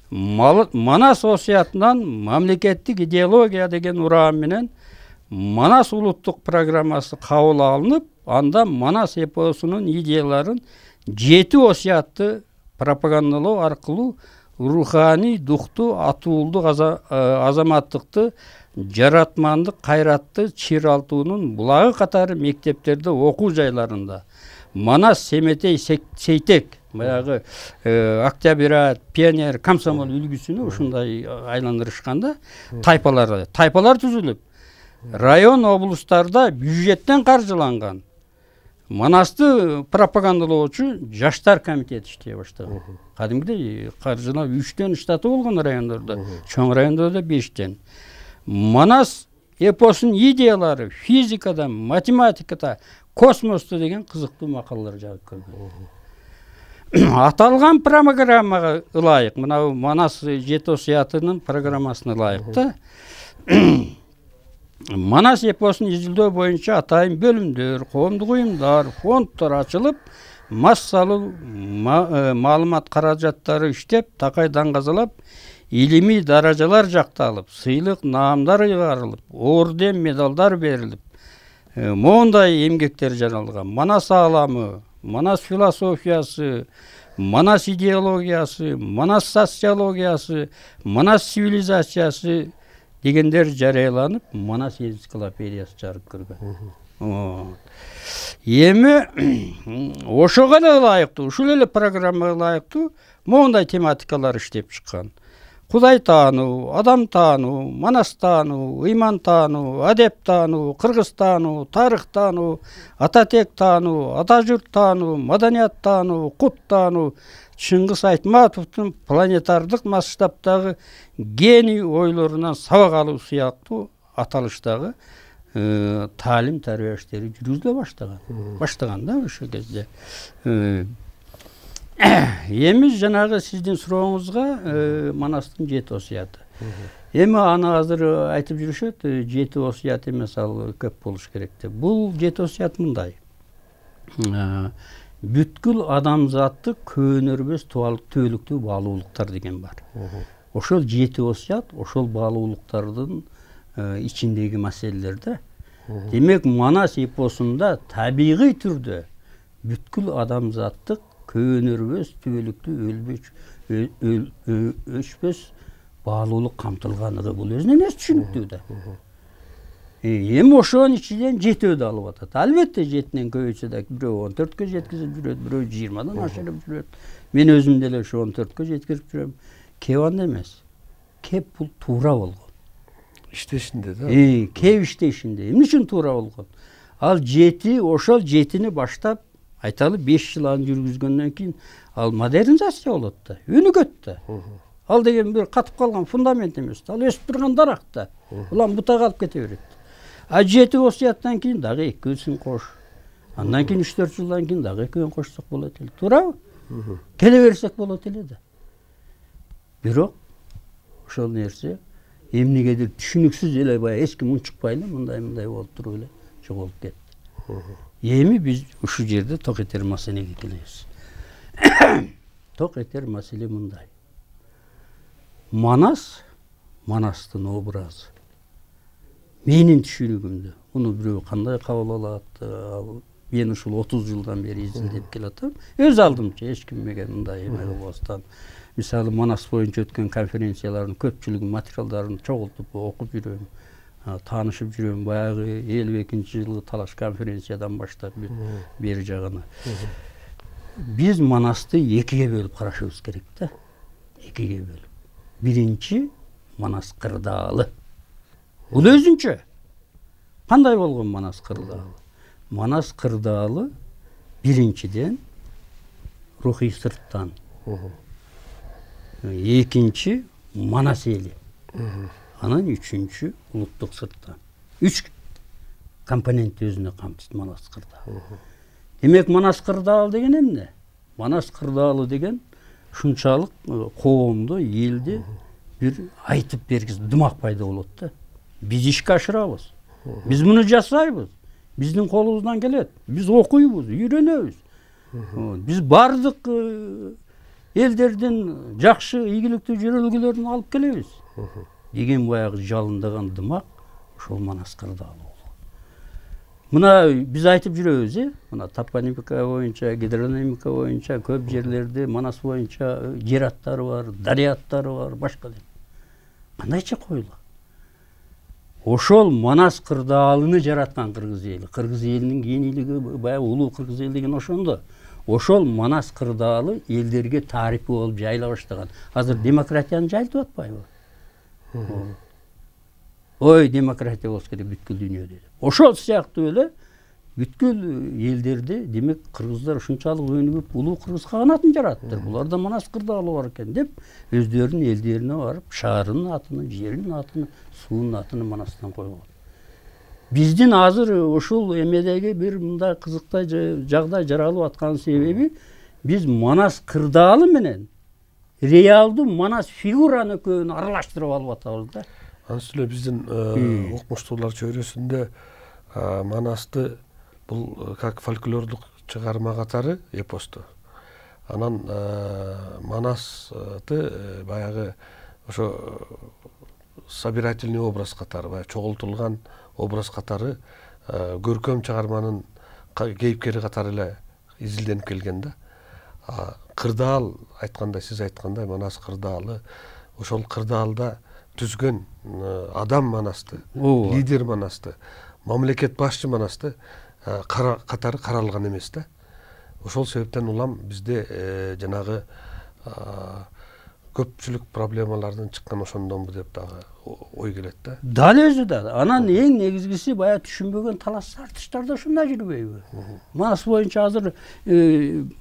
Манас осуятынан мамлекеттик идеология деген урам менен Манас улуттук программасы кабыл алынып, анда Манас эпосунун идеяларын 7 осуятты пропагандалоо аркылуу руханий, духту, атуулдук, азаматтыкты, жаратмандык, кайратты чыйралтуунун булагы катары мектептерде, окуу жайларында Манас, Семетей, Сейтек, баягы Октябрят, Пионер, Комсомол үлгүсүнө ушундай айландырышканда тайпалар түзүлүп, район, облустарда бюджеттен каржыланган Манасты пропагандалоочу жаштар комитети иштей баштаган. Кадимгидей каржылап 3төн штаты болгон райондордо, чоң райондордо 5тен. Манас эпосунун идеялары физикада, математикада, космосто деген кызыктуу макалалар жазып көргөн. Аталган программага ылайык, мына Манас 7 осуятынын программасына ылайык да. Манас эпосун изилдөө боюнча атайын бөлүмдөр, коомдук уюмдар, фонддор ачылып, массалуу маалымат каражаттары иштеп, такай даңгазалап, илимий даражалар жакталып, сыйлык наамдар ыйгарылып, орден, медалдар берилип, моундай эмгектер жаралган. Манас ааламы, Манас философиясы, Манас идеологиясы, Манас социологиясы, Манас цивилизациясы дегендер жарыяланып, Манас энциклопедиясы чыгарып көргөн. Эми ошого эле ылайыктуу, ушул эле программага ылайыктуу моундай тематикалар иштеп чыккан. Кудай таануу, адам таануу, Манас таануу, ыйман таануу, адеп таануу, кыргыз таануу, тарых таануу, ата тек таануу, ата журт таануу, маданият таануу, кут таануу, Чыңгыз Айтматовдун планетардык масштабтагы гений ойлорунан сабак алуу сыяктуу аталыштагы таалим тарбия иштери жүргүзүлө баштаган да ошол кезде. Эми жанагы сиздин сурооңузга Манастын 7 осуяты. Эми аны азыр айтып жүрүшөт, 7 осуят эмес, ал көп болуш керек деп. Бул 7 осуят мындай. Бүткүл адамзатты көөнөрбөс түбөлүктүү баалуулуктар деген бар. Ошол 7 осуят, ошол баалуулуктардын ичиндеги маселелерде. Демек, Манас эпосунда табигый түрдө бүткүл адамзаттык көөнөрбөс түбөлүктүү өчпөс баалуулук камтылганлыгы бул өзүнөн өз түшүнүктүү да. Эми ошонун ичинен 7 алып атат. Албетте 7ден көбөйсө да бирөө 14кө жеткизип жүрөт, бирөө 20дан ашырып жүрөт. Мен өзүм деле ошо 14кө жеткирип жүрөм. Кеп анда эмес. Кеп бул туура болгон. Иштешинде да. Кеп иштешинде. Эмне үчүн туура болгон? Ал 7, ошол 7-ни баштап айталы 5 жыл аны жүргүзгөндөн кийин ал модернизация болот да, өнүгөт да. Ал деген бир катып калган фундамент эмес. Ал өсүп турган дарак да. Улам бутак алып кете берет. А 7 осуяттан кийин дагы 2-син кош. Андан кийин 3-4 жылдан кийин дагы 2-өн кошсок болот эле. Туурабы? Келе берсек болот эле да. Бирок ошол нерсе эмнегедир түшүнүксүз эле баягы эч ким унчукпай эле мындай болуп туруп эле жоголуп кетти. Эми биз ушул жерде ток этер маселеге келебиз. Ток этер маселе мындай. Манастын образы. Менин түшүнүгүмдө муну бирөө кандай кабыл алат? Мен ушул 30 жылдан бери изилдеп келатам. Өз алдымча эч ким мага мындай эме кылбастан. Мисалы Манас боюнча өткөн конференциялардын көпчүлүгүн материалдарын чогултуп окуп жүрөм. Таанышып жүрөм. Баягы 52-жылы талаш конференциядан баштап бери жагына. Биз Манасты экиге бөлүп карашыбыз керек да. Экиге бөлүп. Биринчи Манас кырдаалы. Бул өзүнчө. Кандай болгон Манас кырдаалы? Манас кырдаалы биринчиден рухий сырттан. Экинчи Манас эли. Анан үчүнчү улуттук сырттан. 3 компонент өзүнө камтыйт Манас кырдаалы. Демек Манас кырдаалы деген эмне? Манас кырдаалы деген ушунчалык коомдо, элде бир айтып бергиз дымак пайда болот да. Биз ишке ашырабыз. Биз муну жасайбыз. Биздин колубуздан келет. Биз окуйбуз, үйрөнөбүз. Биз бардык элдердин жакшы, ийгиликтүү жөрөлгөлөрүн алып келебиз. Деген баягы жалындаган дымак ошол Манас кырдаалы болгон. Мына биз айтып жүрөбүз, мына топонимика боюнча, гидронимика боюнча көп жерлерде Манас боюнча жер аттары бар, дарыя аттары бар, башка. Кандайча коюлат? Ошол Манас кырдаалыны жараткан кыргыз эли. Кыргыз элинин кийинилиги баягы улуу кыргыз эл деген ошондо. Ошол Манас кырдаалы элдерге тарихи болуп жайыла баштаган. Азыр демократияны жайылтып атпайбы? Ой, демократия болсо керек бүткүл дүйнөдө. Ошол сыяктуу эле бүткүл элдерде демек кыргыздар ушунчалык өнүгүп улуу кыргыз каганатын жараттыр. Буларда Манас кырдаалы бар экен деп өздөрүнүн элдерине барып шаарынын атын, жеринин атын, суунун атын Манастан койгон. Биздин азыр ушул эмедеги бир мындай кызыктай жагдай жаралып аткан себеби биз Манас кырдаалы менен реалдуу Манас фигураны экөөнү аралаштырып алып атабыз да. Анысы эле биздин окумуштуулар чөйрөсүндө Манасты бул как фольклордук чыгарма катары эпосту. Анан Манасты баягы ошо собирательный образ катары, баягы чогултулган образ катары көркөм чыгарманын кейипкери катары эле изилденип келген да. Кырдаал айткандай, сиз айткандай Манас кырдаалы, ошол кырдаалда түзгөн адам Манасты, лидер Манасты, мамлекет башчы Манасты катары каралган эмес да. Ошол себептен улам бизде жанагы көпчүлүк проблемалардан чыккан ошондонбу деп дагы ой келет да. Дал өзү да. Анан эң негизгиси баягы түшүнбөгөн талаш тартыштар да ушунда жүрбөйбү? Манас боюнча азыр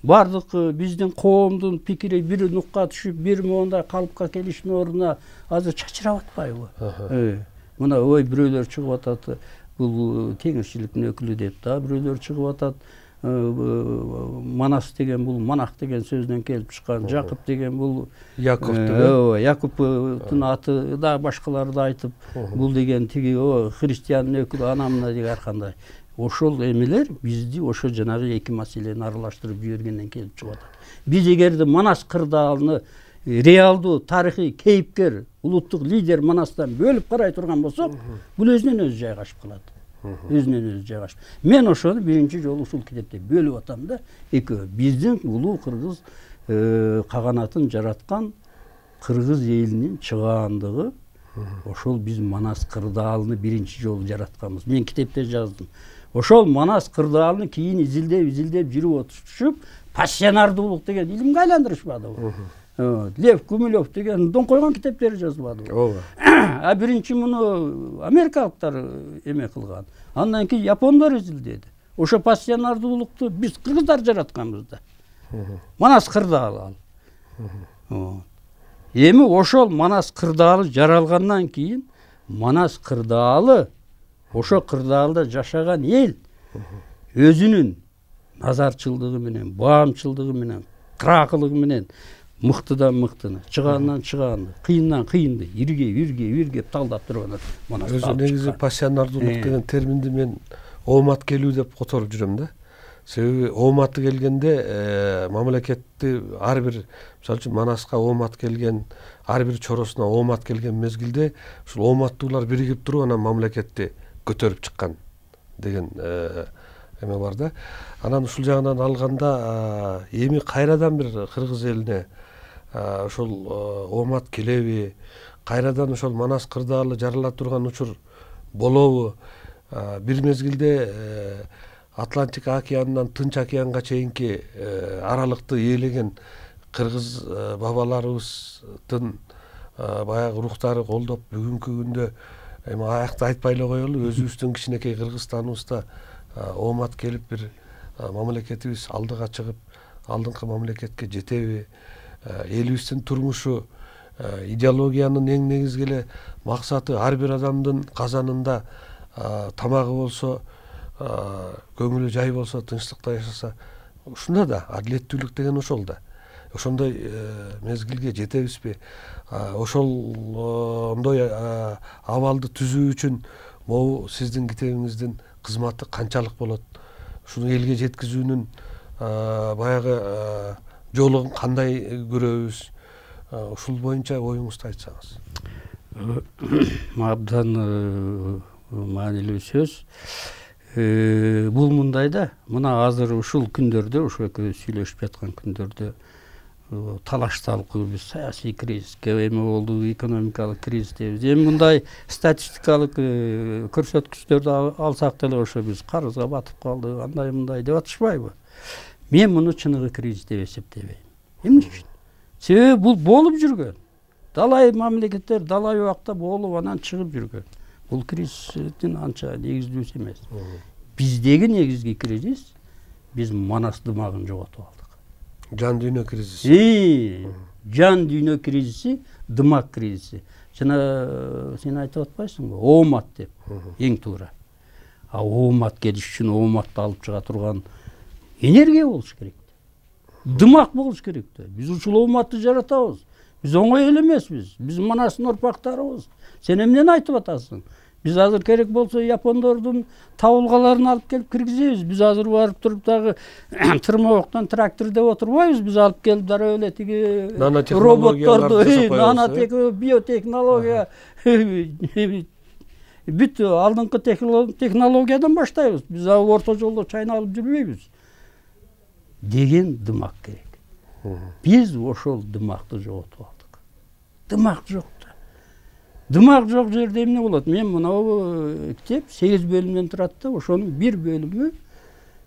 бардык биздин коомдун пикири бир нукка түшүп, бир мондай калыпка келиштин ордуна азыр чачырап атпайбы? Мына ой бирөөлөр чыгып атат, бул теңирчиликтин өкүлү деп да, бирөөлөр чыгып атат. Манас деген бул Манах деген сөздөн келип чыккан, Жакып деген бул Яков деген. Якуптун аты да башкалары да айтып, бул деген тиги христиандын өкүлү анамына деген ар кандай. Ошол эмелер бизди ошо жанагы эки маселени аралаштырып жибергенден келип чыгып атат. Биз эгерде Манас кырдаалыны реалдуу тарыхый кейипкер, улуттук лидер Манастан бөлүп карай турган болсок, бул өзүнөн өзү жайгашып калат. Өзүнөн өзү жайгашып. Мен ошону биринчи жолу ушул китепте бөлүп атам да. Экөө биздин улуу кыргыз каганатын жараткан кыргыз элинин чыгаандыгы ошол биз Манас кырдаалыны биринчи жолу жаратканбыз. Мен китепте жаздым. Ошол Манас кырдаалыны кийин изилдеп жүрүп отушуп, пассионардуулук деген илимге айландырышпадыбы? Лев Гумилев деген дон койгон китептери жазбадыбы? Ооба. А биринчи муну америкалыктар эме кылган. Андан кийин япондор изилдеди. Ошо пассионардуулукту биз кыргыздар жаратканбыз да. Манас кырдаалы. Эми ошол Манас кырдаалы жаралгандан кийин Манас кырдаалы ошо кырдаалда жашаган эл өзүнүн назарчылдыгы менен, баамчылдыгы менен, кыракылыгы менен мыктыдан мыктыны, чыгаандан чыгаанды, кыйындан кыйынды, иргеп талдап турган Манас. Өзү негизи пассионардуулук деген терминди мен оомат келүү деп которуп жүрөм да. Себеби ооматы келгенде мамлекетти ар бир, мисалы үчүн Манаска оомат келген, ар бир чоросуна оомат келген мезгилде ушул ооматтуулар биригип туруп анан мамлекетти көтөрүп чыккан деген эме бар да. Анан ушул жагынан алганда эми кайрадан бир кыргыз элине ошол оомат келеби, кайрадан ошол Манас кырдаалы жарыла турган учур болобу? Бир мезгилде Атлантика океанынан Тынч океанга чейинки аралыкты ээлеген кыргыз бабаларыбыздын баягы рухтары колдоп бүгүнкү күндө эми аякты айтпай эле коелу, өзүбүздүн кичинекей Кыргызстаныбызда оомат келип бир мамлекетибиз алдыга чыгып, алдыңкы мамлекетке жетеби? Элибиздин турмушу, идеологиянын эң негизги эле максаты ар бир адамдын казанында тамагы болсо, көңүлү жай болсо, тынчтыкта жашаса, ушунда да адилеттүүлүк деген ошол да. Ошондой мезгилге жетебизби? Ошондой абалды түзүү үчүн могу сиздин китебиңиздин кызматы канчалык болот? Ушуну элге жеткизүүнүн баягы жолун кандай көрөбүз? Ушул боюнча оюңузду айтсаңыз. Абдан маанилүү сөз. Бул мындай да, мына азыр ушул күндөрдө, ошо экөөбүз сүйлөшүп жаткан күндөрдө талаш талкуу, биз саясий кризиске эме болду, экономикалык кризис дейбиз. Эми мындай статистикалык көрсөткүчтөрдү алсак деле ошо биз карызга батып калды, андай мындай деп атышпайбы? Мен муну чыныгы кризис деп эсептебейм. Эмне үчүн? Себеби бул болуп жүргөн. Далай мамлекеттер далай убакта болуп анан чыгып жүргөн. Бул кризистин анча негиздүүсү эмес. Биздеги негизги кризис биз Манас дымагын жоготуп алдык. Жан дүйнө кризиси. Жан дүйнө кризиси, дымак кризиси. Жана сен айтып атпайсыңбы? Оомат деп. Эң туура. Оомат келиш үчүн ооматты алып чыга турган энергия болуш керек. Дымак болуш керек да. Биз ушул ооматты жаратабыз. Биз оңой эле эмеспиз. Биз Манастын орпактарыбыз. Сен эмнени айтып атасың? Биз азыр керек болсо япондордун табылгаларын алып келип киргизебиз. Биз азыр барып туруп дагы тырмабоктон трактор деп отурбайбыз. Биз алып келип дароо эле тиги роботторду, биотехнология, бүт алдыңкы технологиядан баштайбыз. Биз орто жолдо чайналып жүрбөйбүз деген дымак керек. Биз ошол дымакты жоготуп алдык. Дымак жок да. Дымак жок жерде эмне болот? Мен мынау китеп 8 бөлүмдөн турат да, ошонун бир бөлүмү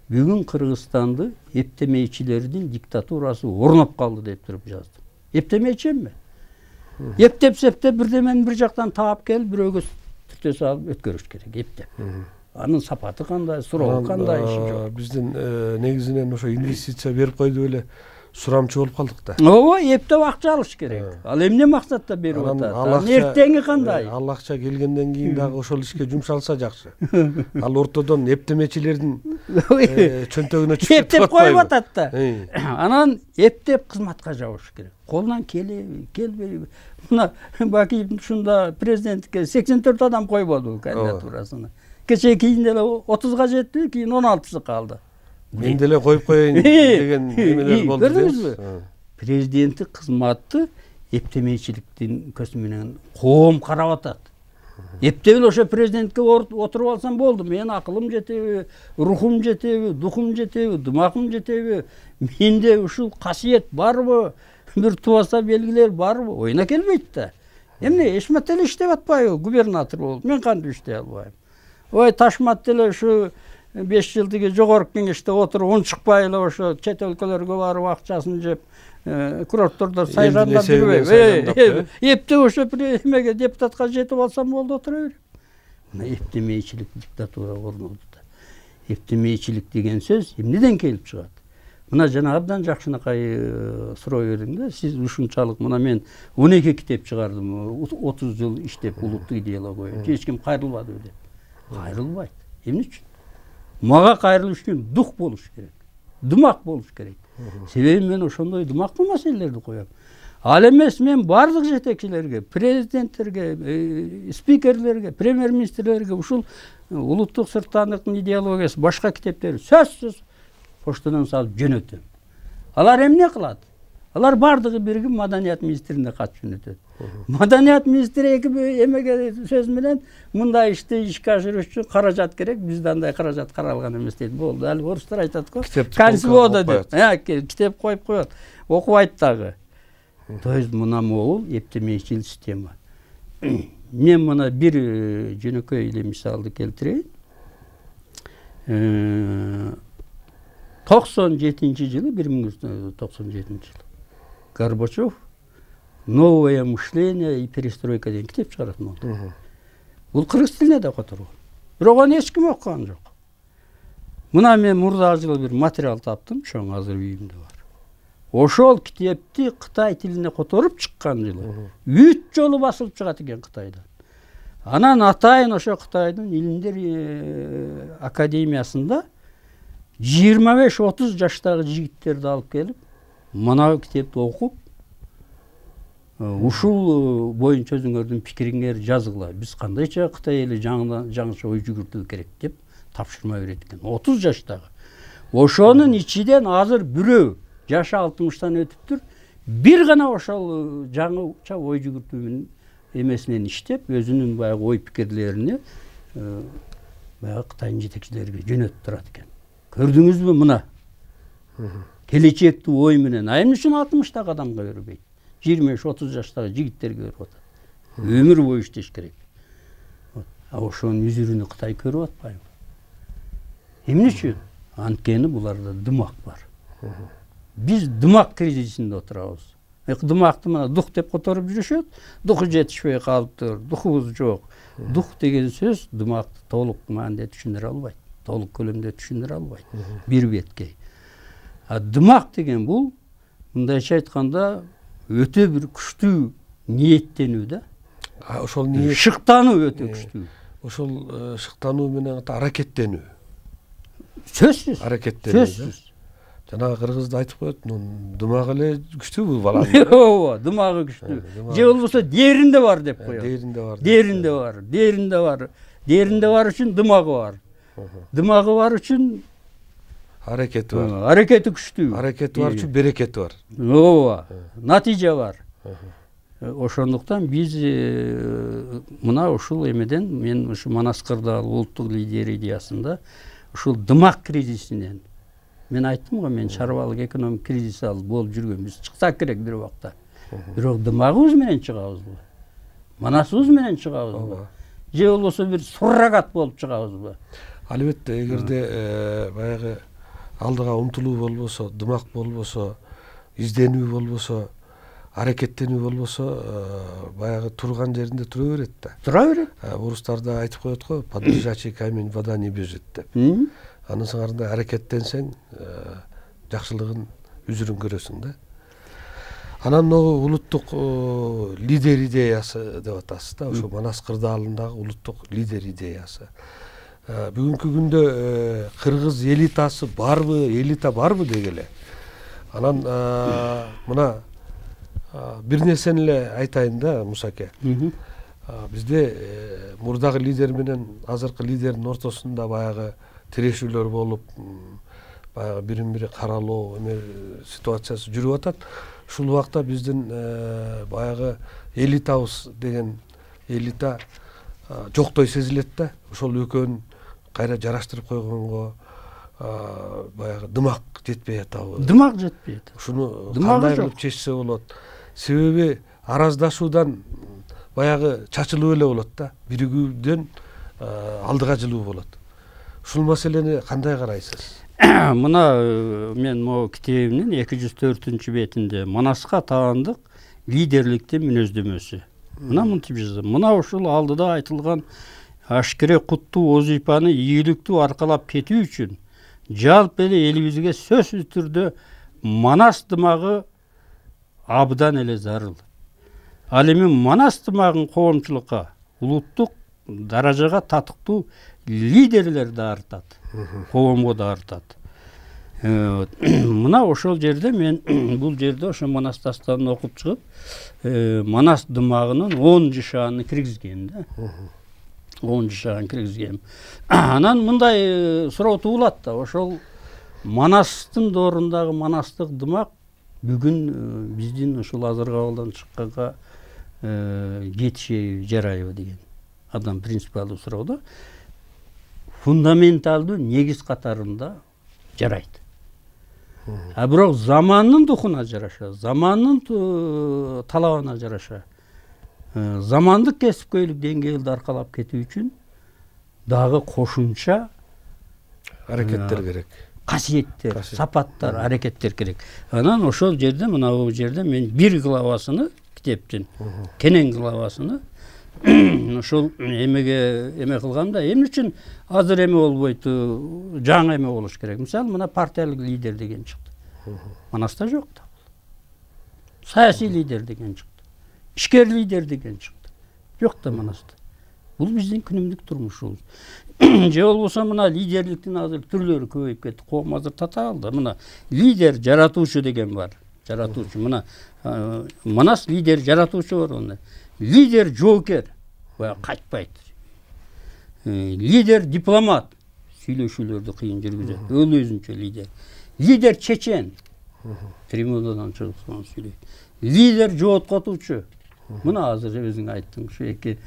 бүгүн Кыргызстанды эптемейчилердин диктатурасы орноп калды деп туруп жаздым. Эптемейчи эмне? Эптеп-септеп бирдемени бир жактан таап келип, бирөөгө түртө салып өткөрүш керек, эптеп. Анын сапаты кандай, суроого кандай иши жок. Биздин негизинен ошо инвестиция берип койду эле сурамчы болуп калдык да. Ооба, эптеп акча алыш керек. Ал эмне максатта берип атат? Эртеңи кандай? Ал акча келгенден кийин дагы ошол ишке жумшалса жакшы. Ал ортодон эптемечилердин чөнтөгүнө чүгүп эптеп коюп атат да. Анан эптеп кызматка жабыш керек. Колунан келеби, келбейби? Мына Бакиев ушунда президенттикке 84 адам койбоду кандидатурасына. Кечээ кийин деле 30га жетти, кийин 16сы калды. Мен деле коюп коеюн деген эмелер болду. Көрдүңүзбү? Президенттик кызматты эптемейчиликтин көзү менен коом карап атат. Эптеп эле ошо президентке отуруп алсам болду. Менин акылым жетеби, рухум жетеби, духум жетеби, дымагым жетеби? Менде ушул касиет барбы? Бир тубаса белгилер барбы? Оюна келбейт да. Эмне Эшмат эле иштеп атпайбы? Губернатор болуп, мен кантип иштей албайм? Ой, Ташмат деле ушу 5 жылдыгы жогорку кеңеште отуруп, унчукпай эле ошо чет өлкөлөргө барып акчасын жеп, курорттордо сайрандап жүрбөйбү? Эптеп ошо эмеге депутатка жетип алсам болду, отура берем. Мына эптемейчилик диктатура орнолду да. Эптемейчилик деген сөз эмнеден келип чыгат? Мына жана абдан жакшынакай суроо бердиң да. Сиз ушунчалык, мына мен 12 китеп чыгардым, 30 жыл иштеп улуттук идеология. Эч ким кайрылбадыбы деп. Кайрылбайт. Эмне үчүн? Мага кайрылыш үчүн дух болуш керек. Дымак болуш керек. Себеби мен ошондой дымактуу маселелерди коем. Ал эмес мен бардык жетекчилерге, президенттерге, спикерлерге, премьер-министрлерге ушул улуттук сырттандыктын идеологиясы, башка китептери сөзсүз поштадан салып жөнөтөм. Алар эмне кылат? Алар бардыгы биригип маданият министрине кат жөнөтөт. Маданият министри эмеге сөз менен мындай ишти ишке ашырыш үчүн каражат керек, бизде андай каражат каралган эмес дейт. Болду, ал орустар айтат го. Консвода деп. Китеп коюп коет. Окубайт дагы. То есть мына могул эптемечил система. Мен мына бир жөнөкөй эле мисалды келтирейин. 97-жылы, 1997 жылы Горбачев «Новое мышление и перестройка» деген китеп чыгаратын болду. Бул кыргыз тилине да которгон. Бирок аны эч ким окуган жок. Мына мен мурда жылы бир материал таптым, чоң азыр үйүмдө бар. Ошол китепти Кытай тилине которуп чыккан жылы 3 жолу басылып чыгат экен Кытайдан. Анан атайын ошо Кытайдын илимдер академиясында 25-30 жаштагы жигиттерди алып келип, мына китепти окуп, ушул боюнча өзүңөрдүн пикириңер жазгыла. Биз кандайча Кытай эли жаңыча ой жүгүртүү керек деп тапшырма берет экен. 30 жаштагы. Ошонун ичинен азыр бирөө жашы 60-тан өтүптүр. Бир гана ошол жаңыча ой жүгүртүү эмесинен иштеп, өзүнүн баягы ой пикирлерини баягы Кытайдын жетекчилерине жөнөтүп турат экен. Көрдүңүзбү мына? Келечекти ой менен. Эмне үчүн 60-тагы адамга бербейт? 25-30 жаштагы жигиттерге берип атат. Өмүр бою иштеш керек. Ошонун үзүрүнү Кытай көрүп атпайбы? Эмне үчүн? Анткени буларда дымак бар. Биз дымак кризисинде отурабыз. Дымакты мына дух деп которуп жүрүшөт. Духу жетишпей калыптыр. Духубуз жок. Дух деген сөз дымакты толук маанде түшүндүрө албайт. Толук көлөмдө түшүндүрө албайт. Бир беткей. Дымак деген бул мындайча айтканда өтө бир күчтүү ниеттенүү да. Ошол ниет шыктануу өтө күчтүү. Ошол шыктануу менен аракеттенүү. Сөзсүз. Аракеттенүү. Сөзсүз. Жанагы кыргызда айтып коет, дымагы эле күчтүү бул баланын. Ооба, дымагы күчтүү. Же болбосо дээринде бар деп коет. Дээринде бар. Дээринде бар үчүн дымагы бар. Дымагы бар үчүн аракети бар. Аракети күчтүү. Аракети бар үчүн берекети бар. Ооба, натыйжа бар. Ошондуктан биз мына ушул эмеден мен ушу Манас Кырдаал улуттук лидер идеясында ушул дымак кризисинен мен айттым го, мен чарбалык экономик кризис болуп жүргөн. Биз чыксак керек бир убакта. Бирок дымагыбыз менен чыгабызбы? Манасыбыз менен чыгабызбы? Же болбосо бир суррогат болуп чыгабызбы? Албетте, эгерде баягы алдыга умтулуу болбосо, дымак болбосо, изденүү болбосо, аракеттенүү болбосо, баягы турган жеринде тура берет да. Тура берет. Орустарда айтып коет го, подвижачий камень вода не бежит деп. Анын сыңарында аракеттенсең, жакшылыгын үзүрүн көрөсүң да. Анан улуттук лидер идеясы деп атасыз да, ошо Манас Кырдаалындагы улуттук лидер идеясы. Бүгүнкү күндө кыргыз элитасы барбы, элита барбы дегеле. Анан мына бир нерсени эле айтайын да, Мусаке. Бизде мурдагы лидер менен азыркы лидердин ортосунда баягы тирешүүлөр болуп, баягы бирин бири каралоо ситуациясы жүрүп атат. Ушул убакта биздин баягы элитабыз деген элита жоктой сезилет да. Ошол экөөнү кайра жараштырып койгонго баягы дымак жетпей атабы? Дымак жетпей атат. Ушуну кандай кылып чечсе болот? Себеби араздашуудан баягы чачылып эле болот да. Биригүүдөн алдыга жылуу болот. Ушул маселени кандай карайсыз? Мына мен могу китебимдин 204-бетинде Манаска таандык лидерликтин мүнөздөмөсү. Мына мынтип жазам. Мына ушул алдыда айтылган ашкере куттуу вазифаны ийгиликтүү аркалап кетүү үчүн жалпы эле элибизге сөзсүз түрдө Манас дымагы абдан эле зарыл. Ал эми Манас дымагын коомчулукка, улуттук даражага татыктуу лидерлер да артат, коомго да артат. Мына ошол жерде мен бул жерде ошо Манас дастанын окуп чыгып, Манас дымагынын 10 жашааны киргизгем да. 10 жашааны киргизгем. Анан мындай суроо туулат да, ошол Манастын доорундагы манастык дымак бүгүн биздин ушул азыркы абалдан чыкканга жетишеби, жарайбы деген абдан принципиалдуу суроо да. Фундаменталдуу негиз катарында жарайт. А бирок замандын духуна жараша, замандын талабына жараша, замандык кесипкөйлүк деңгээлди аркалап кетүү үчүн дагы кошумча аракеттер керек. Касиеттер, сапаттар, аракеттер керек. Анан ошол жерде, мына бул жерде мен бир главасыны китептин, кенен главасыны ошол эме кылганда, эмне үчүн азыр эме болбойт, жаңы эме болуш керек. Мисалы, мына партиялык лидер деген чыкты. Манаста жок да. Саясий лидер деген чыкты. Ишкер лидер деген чыкты. Жок да Манаста. Бул биздин күнүмдүк турмушубуз. Же болбосо мына лидерликтин азыр түрлөрү көбөйүп кетти. Коом азыр татаалды. Мына лидер жаратуучу деген бар. Жаратуучу. Мына Манас лидер жаратуучу бар онда. Лидер жоокер. Бая кайтпайт. Лидер дипломат. Сүйлөшүүлөрдү кыйын жүргүзөт. Өзүнчө лидер. Лидер чечен. Трибунадан чыгып сүйлөйт. Лидер жооткотуучу. Мына азыр өзүң айттың, ушу эки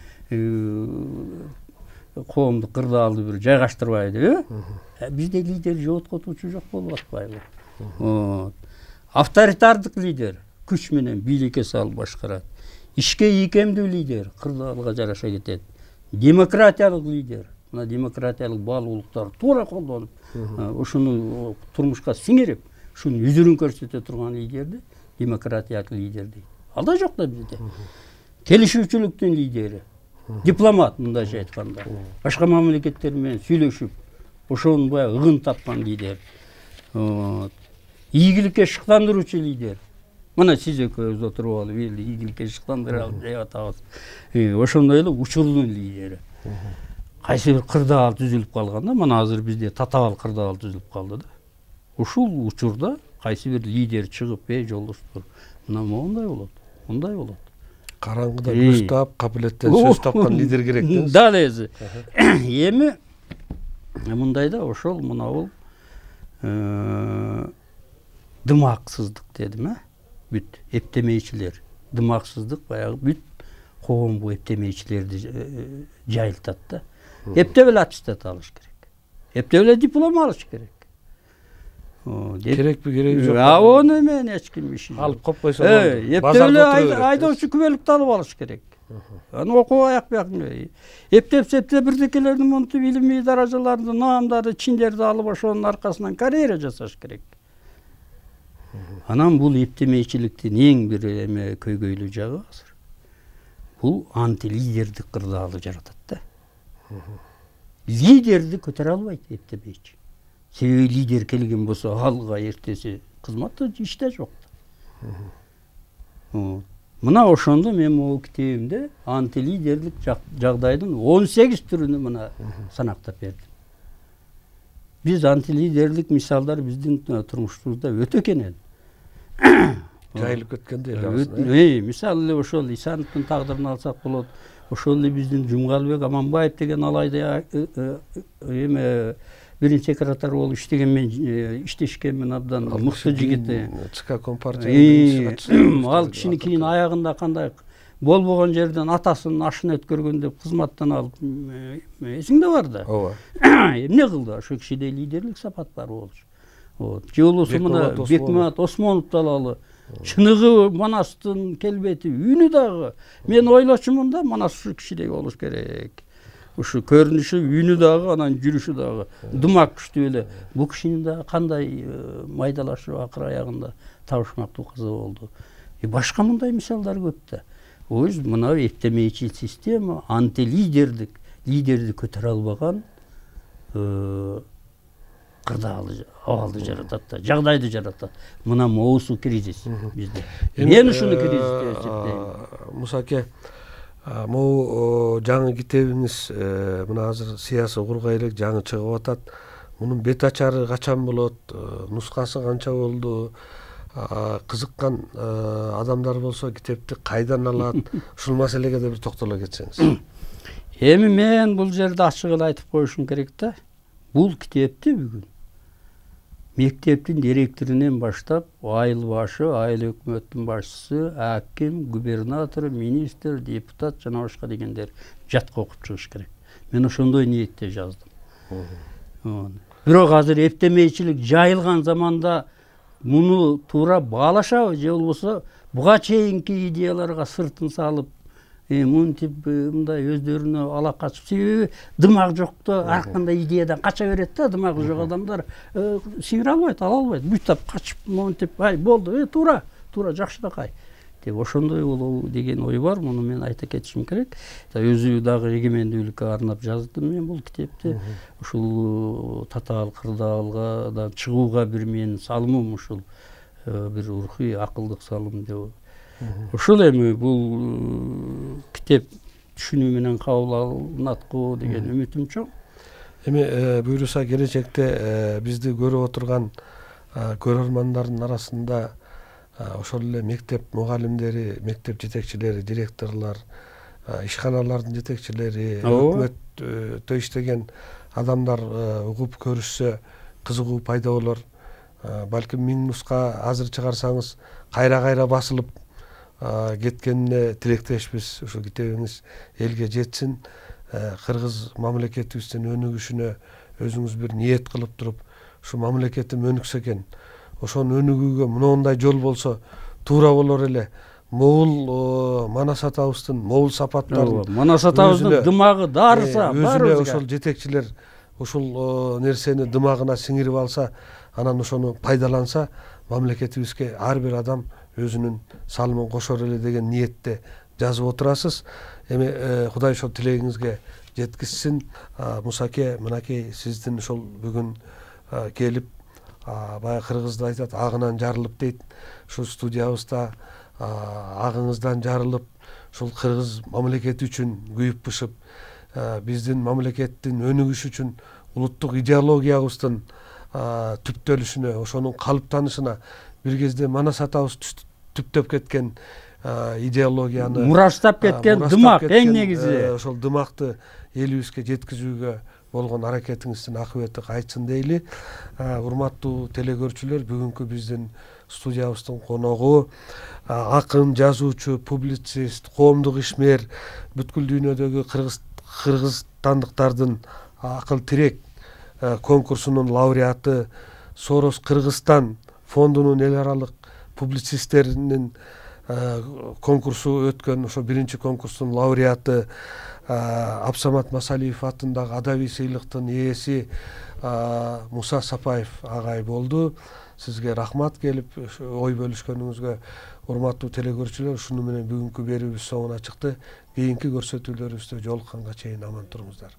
коомду кырдаалды бир жайгаштырбайды, бизде лидер жооткотуучу жок болуп атпайбы? Авторитардык лидер күч менен бийликке салып башкарат. Ишке ийкемдүү лидер кырдаалга жараша кетет. Демократиялык лидер, мына демократиялык баалуулуктар туура колдонуп, ушуну турмушка сиңирип, ушунун үзүрүн көрсөтө турган лидерди демократиялык лидер дейт. Алда жок да бизде. Келишүүчүлүктүн лидери, дипломат, мындайча айтканда, башка мамлекеттер менен сүйлөшүп, ошону баягы ыгын тапкан лидер. Ийгиликке шыктандыруучу лидер. Мына сиз экөөбүз отуруп алып, элди ийгиликке шыктандырабыз деп атабыз. Ошондой эле учурдун лидери. Кайсы бир кырдаал түзүлүп калганда, мына азыр бизде татаал кырдаал түзүлүп калды да. Ушул учурда кайсы бир лидер чыгып, жолдоштор, мына моундай болот, мындай болот. Караңгыда көз таап, кабилеттен сөз тапкан лидер керек дейсиз. Да, лези. Эми мындайда ошол мына бул дымаксыздык дедим, бүт эптемейчилер. Дымаксыздык баягы бүт коом бу эптемейчилерди жайылтат да. Эптеп эле аттестат алыш керек. Эптеп эле диплом алыш керек. Керекпи, кереги жок. Оны мен эч ким иши жок. Алып койпойсо болду. Эптеп эле айдоочу күбөлүктү алып алыш керек. Аны окуп аяк эптеп-септеп бирдекелерди монтуп илимий даражаларды, наамдарды, чиндерди алып ошонун аркасынан карьера жасаш керек. Анан бул эптемейчиликтин эң бир эме көйгөйлүү жагы азыр. Бул антилидердик кырдаалды жаратат да. Лидерди көтөрө албайт эптемейчи. Себеби лидер келген болсо алга эртеси кызматта иште жок. Мына ошондо мен могу китебимде антилидерлик жагдайдын 18 түрүнү мына санактап бердим. Биз антилидерлик мисалдар биздин турмушубузда өтө кенен. Жайылып кеткенде эле. Мисалы эле ошол Исановдун тагдырын алсак болот. Ошол эле биздин Жумгалбек Аманбаев деген алайда эме биринчи секретарь болуп иштеген, мен иштешкенмин, абдан мыкты жигит. ЦК Компартия. Ал кишини кийин аягында кандай болбогон жерден атасынын ашын өткөргөн деп кызматтан алып, эсиңде бар да. Ооба. Эмне кылды? Ошо кишиде лидерлик сапат бар болчу. Же болбосо мына Бекмамат Осмоновду алалы. Чыныгы Манастын келбети, үнү дагы. Мен ойлочумун да, Манас ушу кишидей болуш керек. Ушу көрүнүшү, үнү дагы, анан жүрүшү дагы дымак күчтүү эле. Бул кишинин дагы кандай майдалашып акыр аягында табышмактуу кызы болду. Башка мындай мисалдар көп да. Өз мына эптемейчил система антилидердик, лидерди көтөрө албаган кырдаалды абалды жаратат да, жагдайды жаратат. Мына моусу кризис бизде. Мен ушуну кризис деп эсептейм. Муса аке, могу жаңы китебиңиз мына азыр сыясый кургай элек жаңы чыгып атат. Мунун бет ачары качан болот? Нускасы канча болду? Кызыккан адамдар болсо китепти кайдан алат? Ушул маселеге да бир токтоло кетсеңиз. Эми мен бул жерде ачык эле айтып коюшум керек да. Бул китепти бүгүн мектептин директорунан баштап айыл башы, айыл өкмөттүн башчысы, аким, губернатор, министр, депутат жана башка дегендер жатка окуп чыгыш керек. Мен ошондой ниетте жаздым. Бирок азыр эптемейчилик жайылган заманда муну туура баалашабы же болбосо буга чейинки идеяларга сыртын салып, мынтип мындай өздөрүнө ала качып, себеби дымак жокто ар кандай идеядан кача берет да, дымагы жок адамдар сиңире албайт, ала албайт, буйтап качып, монтип, ай болду, туура жакшынакай деп ошондой болобу деген ой бар. Муну мен айта кетишим керек. Өзү дагы эгемендүүлүккө арнап жаздым мен бул китепти. Ушул татаал кырдаалга чыгууга бир менин салымым ушул, бир рухий акылдык салым деп. Ушул эми бул китеп түшүнүү менен кабыл алынатку деген үмүтүм чоң. Эми буюрса келечекте бизди көрүп отурган көрөрмандардын арасында ошол эле мектеп мугалимдери, мектеп жетекчилери, директорлор, ишканалардын жетекчилери, өкмөттө иштеген адамдар угуп көрүшсө кызыгуу пайда болор. Балким 1000 нуска азыр чыгарсаңыз кайра басылып кеткенине тилектешпиз. Ушул китебиңиз элге жетсин, кыргыз мамлекетибиздин өнүгүшүнө өзүңүз бир ниет кылып туруп, ушу мамлекетим өнүксө экен, ошону өнүгүүгө мындай жол болсо туура болор эле. Могул Манас атабыздын могул сапаттарын, Манас атабыздын дымагы дарыса, өзүнө ошол жетекчилер ушул нерсени дымагына сиңирип алса, анан ошону пайдаланса, мамлекетибизге ар бир адам өзүнүн салымын кошор эле деген ниетте жазып отурасыз. Эми Кудай ошол тилегиңизге жеткизсин. Мусаке, мынакей сиздин ошол бүгүн келип, баягы кыргызда айтат, агынан жарылып дейт. Ушул студиябызда агыңыздан жарылып, ушул кыргыз мамлекети үчүн күйүп бышып, биздин мамлекеттин өнүгүшү үчүн улуттук идеологиябыздын түптөлүшүнө, ошонун калыптанышына, бир кезде Манас атабыз түптөп кеткен идеологияны, мураштап кеткен дымак, эң негизи ошол дымакты элибизге жеткизүүгө болгон аракетиңиздин акыбети кайтсын дейли. Урматтуу телекөрүүчүлөр, бүгүнкү биздин студиябыздын коногу акын, жазуучу, публицист, коомдук ишмер, бүткүл дүйнөдөгү кыргызстандыктардын акыл тирек конкурсунун лауреаты, Сорос Кыргызстан фондунун эл аралык публицисттеринин конкурсу өткөн ошо биринчи конкурстун лауреаты, Абсамат Масалиев атындагы адабий сыйлыктын ээси Муса Сапаев агай болду. Сизге рахмат келип ой бөлүшкөнүңүзгө. Урматтуу телекөрүүчүлөр, ушуну менен бүгүнкү берүүбүз соңуна чыкты. Кийинки көрсөтүүлөрүбүздө жолукканга чейин аман туруңуздар.